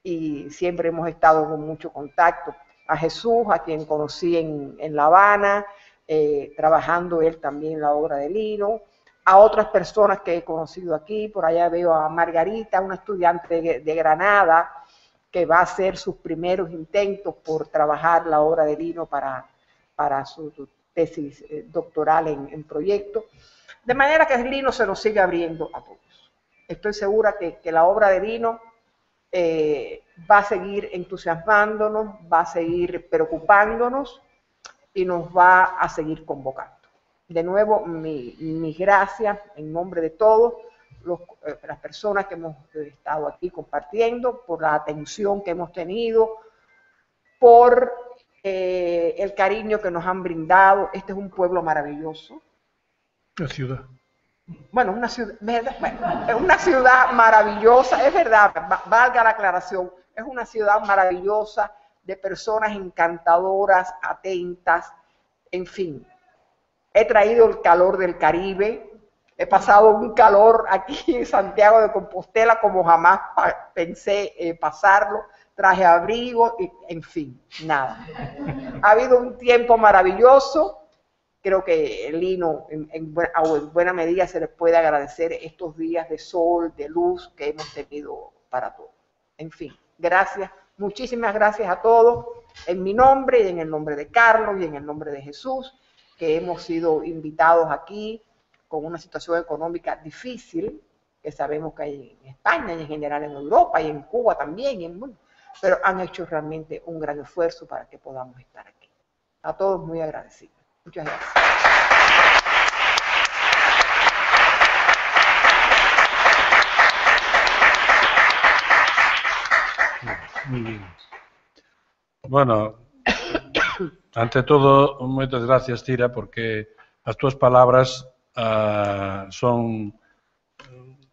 Y siempre hemos estado con mucho contacto. A Jesús, a quien conocí en, en La Habana, eh, trabajando él también en la obra de Lino, a otras personas que he conocido aquí, por allá veo a Margarita, una estudiante de, de Granada, que va a hacer sus primeros intentos por trabajar la obra de Lino para, para su tesis eh, doctoral en, en proyecto. De manera que Lino se nos sigue abriendo a todos. Estoy segura que, que la obra de Lino eh, va a seguir entusiasmándonos, va a seguir preocupándonos y nos va a seguir convocando. De nuevo, mi, mis gracias en nombre de todos los, eh, las personas que hemos estado aquí compartiendo, por la atención que hemos tenido, por eh, el cariño que nos han brindado. Este es un pueblo maravilloso. La ciudad. Bueno, una ciudad, bueno, es una ciudad maravillosa, es verdad, valga la aclaración, es una ciudad maravillosa de personas encantadoras, atentas, en fin. He traído el calor del Caribe, he pasado un calor aquí en Santiago de Compostela como jamás pensé eh, pasarlo, traje abrigo, y, en fin, nada. Ha habido un tiempo maravilloso. Creo que Lino, en, en, buena, en buena medida, se les puede agradecer estos días de sol, de luz que hemos tenido para todos. En fin, gracias, muchísimas gracias a todos, en mi nombre y en el nombre de Carlos y en el nombre de Jesús, que hemos sido invitados aquí con una situación económica difícil, que sabemos que hay en España y en general en Europa y en Cuba también, y en, bueno, pero han hecho realmente un gran esfuerzo para que podamos estar aquí. A todos muy agradecidos. Muchas gracias. Muy bien. Bueno, ante todo, moitas gracias, Tira, porque as túas palabras uh, son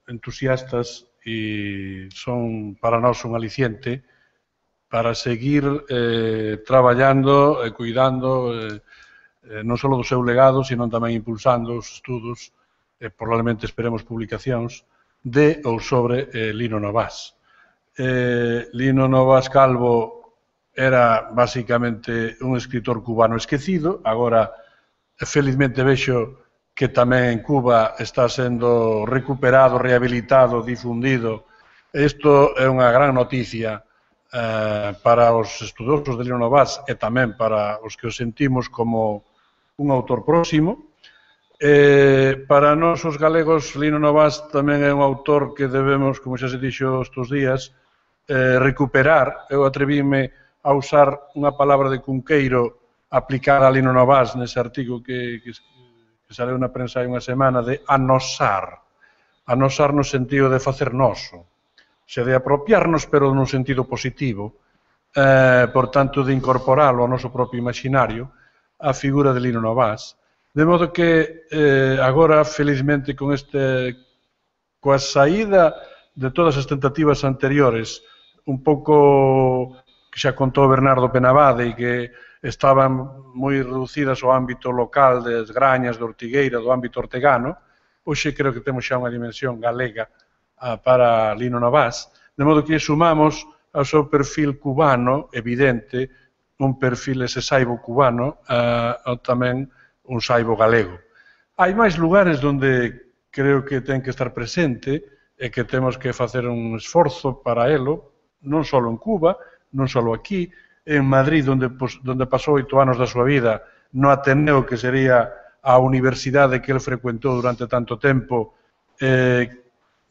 entusiastas e son para nós un aliciente para seguir eh, traballando e cuidando eh, eh, non só do seu legado, sino tamén impulsando os estudos, e probablemente esperemos publicacións, de ou sobre eh, Lino Novás. Eh, Lino Novás Calvo era basicamente un escritor cubano esquecido, agora felizmente vexo que tamén en Cuba está sendo recuperado, rehabilitado, difundido. Isto é unha gran noticia eh, para os estudosos de Lino Novás e tamén para os que os sentimos como un autor próximo. Eh, para nós, os galegos, Lino Novás tamén é un autor que debemos, como xa se dixo estes días, eh, recuperar. Eu atrevíme a usar unha palabra de Cunqueiro aplicada a Lino Novás nese artigo que, que, que saleu na prensa hai unha semana, de anosar. Anosar no sentido de facer noso. xa de apropiarnos, pero nun sentido positivo, eh, por tanto, de incorporalo ao noso propio imaginario, a figura de Lino Novás, de modo que eh, agora, felizmente, con este, coa saída de todas as tentativas anteriores, un pouco que xa contou Bernardo Penabade e que estaban moi reducidas ao ámbito local das Grañas, de Ortigueira, do ámbito ortegano, hoxe creo que temos xa unha dimensión galega ah, para Lino Novás, de modo que sumamos ao seu perfil cubano, evidente, un perfil ese saibo cubano, ah, tamén un saibo galego. Hai máis lugares onde creo que ten que estar presente e que temos que facer un esforzo para elo, non só en Cuba, non só aquí, en Madrid, onde, pues, onde pasou oito anos da súa vida, no Ateneo, que sería a universidade que el frecuentou durante tanto tempo, eh,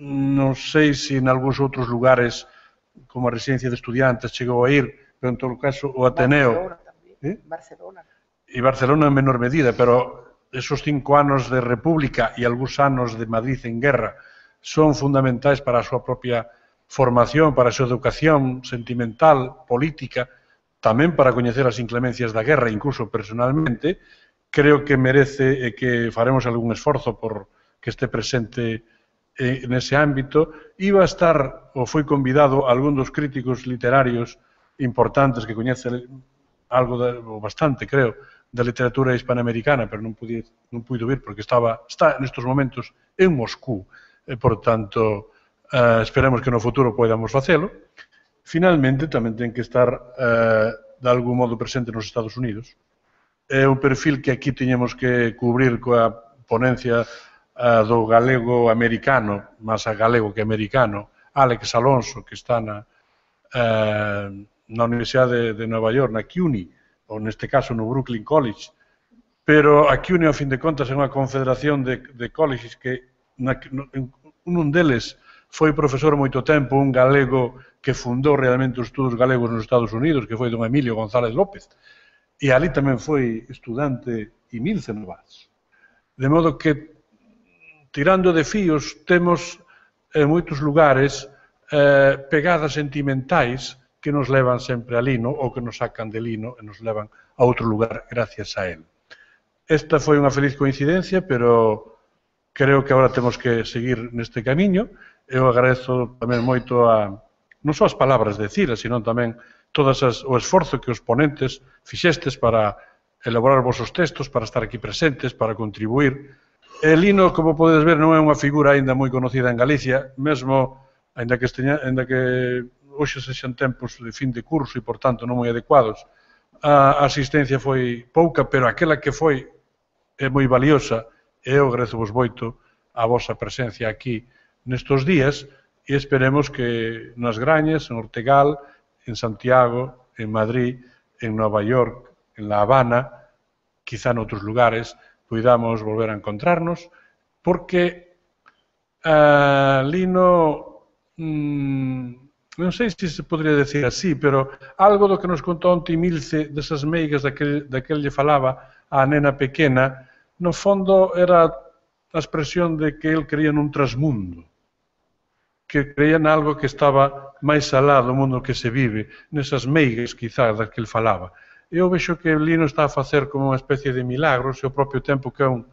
non sei se en algúns outros lugares, como a residencia de estudiantes, chegou a ir, pero en todo caso o Ateneo... Barcelona tamén, ¿eh? Barcelona. E Barcelona en menor medida, pero esos cinco anos de República e algúns anos de Madrid en guerra son fundamentais para a súa propia formación, para a súa educación sentimental, política, tamén para coñecer as inclemencias da guerra, incluso personalmente, creo que merece e que faremos algún esforzo por que este presente eh, nese ámbito. Iba a estar, ou foi convidado, algún dos críticos literarios importantes que coñecen algo, de, ou bastante, creo, da literatura hispanoamericana, pero non pude, non pude vir porque estaba, está nestes momentos en Moscú, e, por tanto, eh, esperemos que no futuro podamos facelo. Finalmente, tamén ten que estar eh, de algún modo presente nos Estados Unidos. É un perfil que aquí teñemos que cubrir coa ponencia eh, do galego americano, máis a galego que americano, Alex Alonso, que está na, eh, na Universidade de, de Nova York, na CUNY, ou neste caso no Brooklyn College, pero a CUNY, ao fin de contas, é unha confederación de, de colleges que na, un deles foi profesor moito tempo, un galego que fundou realmente os estudos galegos nos Estados Unidos, que foi don Emilio González López, e ali tamén foi estudante Imilce Novás. De modo que, tirando de fíos, temos en moitos lugares eh, pegadas sentimentais que nos levan sempre a Lino, ou que nos sacan de Lino e nos levan a outro lugar gracias a él. Esta foi unha feliz coincidencia, pero creo que agora temos que seguir neste camiño. Eu agradezo tamén moito a, non só as palabras de Cira, sino tamén todas as, o esforzo que os ponentes fixestes para elaborar os vosos textos, para estar aquí presentes, para contribuir. E Lino, como podedes ver, non é unha figura aínda moi conocida en Galicia, mesmo, aínda que, esteña, aínda que hoxe sexan tempos de fin de curso e, por tanto, non moi adecuados, a asistencia foi pouca, pero aquela que foi é moi valiosa, e eu agradezo vos moito a vosa presencia aquí nestos días, e esperemos que nas Grañas, en Ortegal, en Santiago, en Madrid, en Nova York, en La Habana, quizá noutros lugares, poidamos volver a encontrarnos, porque uh, Lino, mmm, non sei se se podría decir así, pero algo do que nos contou onte Milce, desas meigas daquel, daquel lle falaba a nena pequena, no fondo era a expresión de que el creía nun trasmundo, que creía en algo que estaba máis alá do mundo que se vive, nesas meigas, quizás, das que el falaba. Eu vexo que Lino está a facer como unha especie de milagro, ao propio tempo que é, un,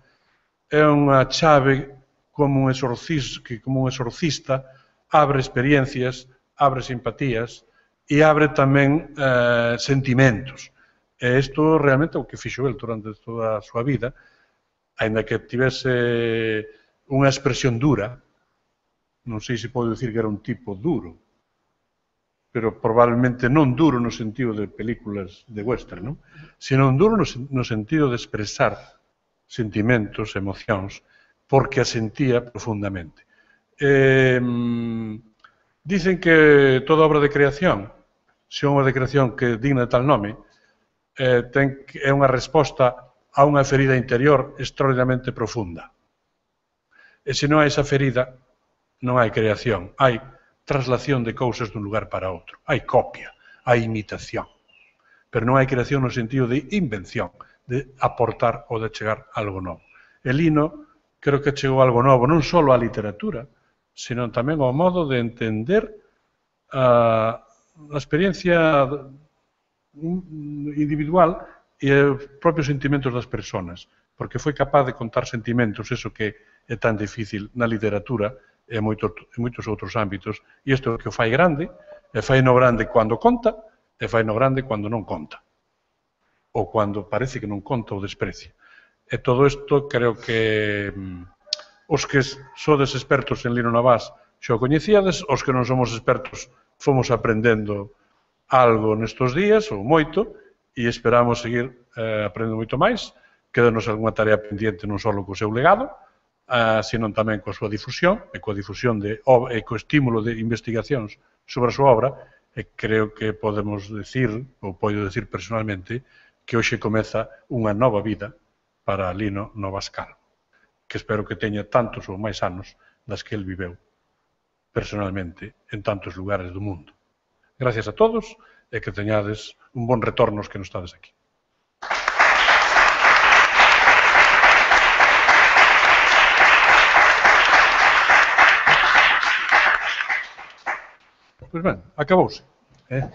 é unha chave como un, exorcis, que como un exorcista, abre experiencias, abre simpatías e abre tamén eh, sentimentos. E isto realmente é o que fixo el durante toda a súa vida, aínda que tivese unha expresión dura. Non sei se pode dicir que era un tipo duro, pero probablemente non duro no sentido de películas de western, non? Sino duro no, no sentido de expresar sentimentos, emocións, porque a sentía profundamente. Eh, dicen que toda obra de creación, se é unha de creación que digna de tal nome, eh, ten, é unha resposta a unha ferida interior extraordinariamente profunda. E se non hai esa ferida, non hai creación, hai traslación de cousas dun lugar para outro, hai copia, hai imitación, pero non hai creación no sentido de invención, de aportar ou de chegar algo novo. E Lino creo que chegou algo novo, non só á literatura, sino tamén ao modo de entender a experiencia individual e os propios sentimentos das persoas, porque foi capaz de contar sentimentos, eso que é tan difícil na literatura e en moitos outros ámbitos, e isto é o que o fai grande, e fai no grande cando conta, e fai no grande cando non conta, ou cando parece que non conta ou desprecia. E todo isto creo que os que sodes expertos en Lino Navás xa o coñecíades, os que non somos expertos fomos aprendendo algo nestos días, ou moito, e esperamos seguir eh, aprendendo moito máis. Quédanos algunha tarea pendiente non só co seu legado, eh, sino tamén coa súa difusión, e coa difusión de, e co estímulo de investigacións sobre a súa obra, e creo que podemos decir, ou podo decir personalmente, que hoxe comeza unha nova vida para Lino Navás Calvo, que espero que teña tantos ou máis anos das que el viveu personalmente en tantos lugares do mundo. Gracias a todos e que teñades un bon retorno os que non estades aquí. Pois ben, acabouse. Eh?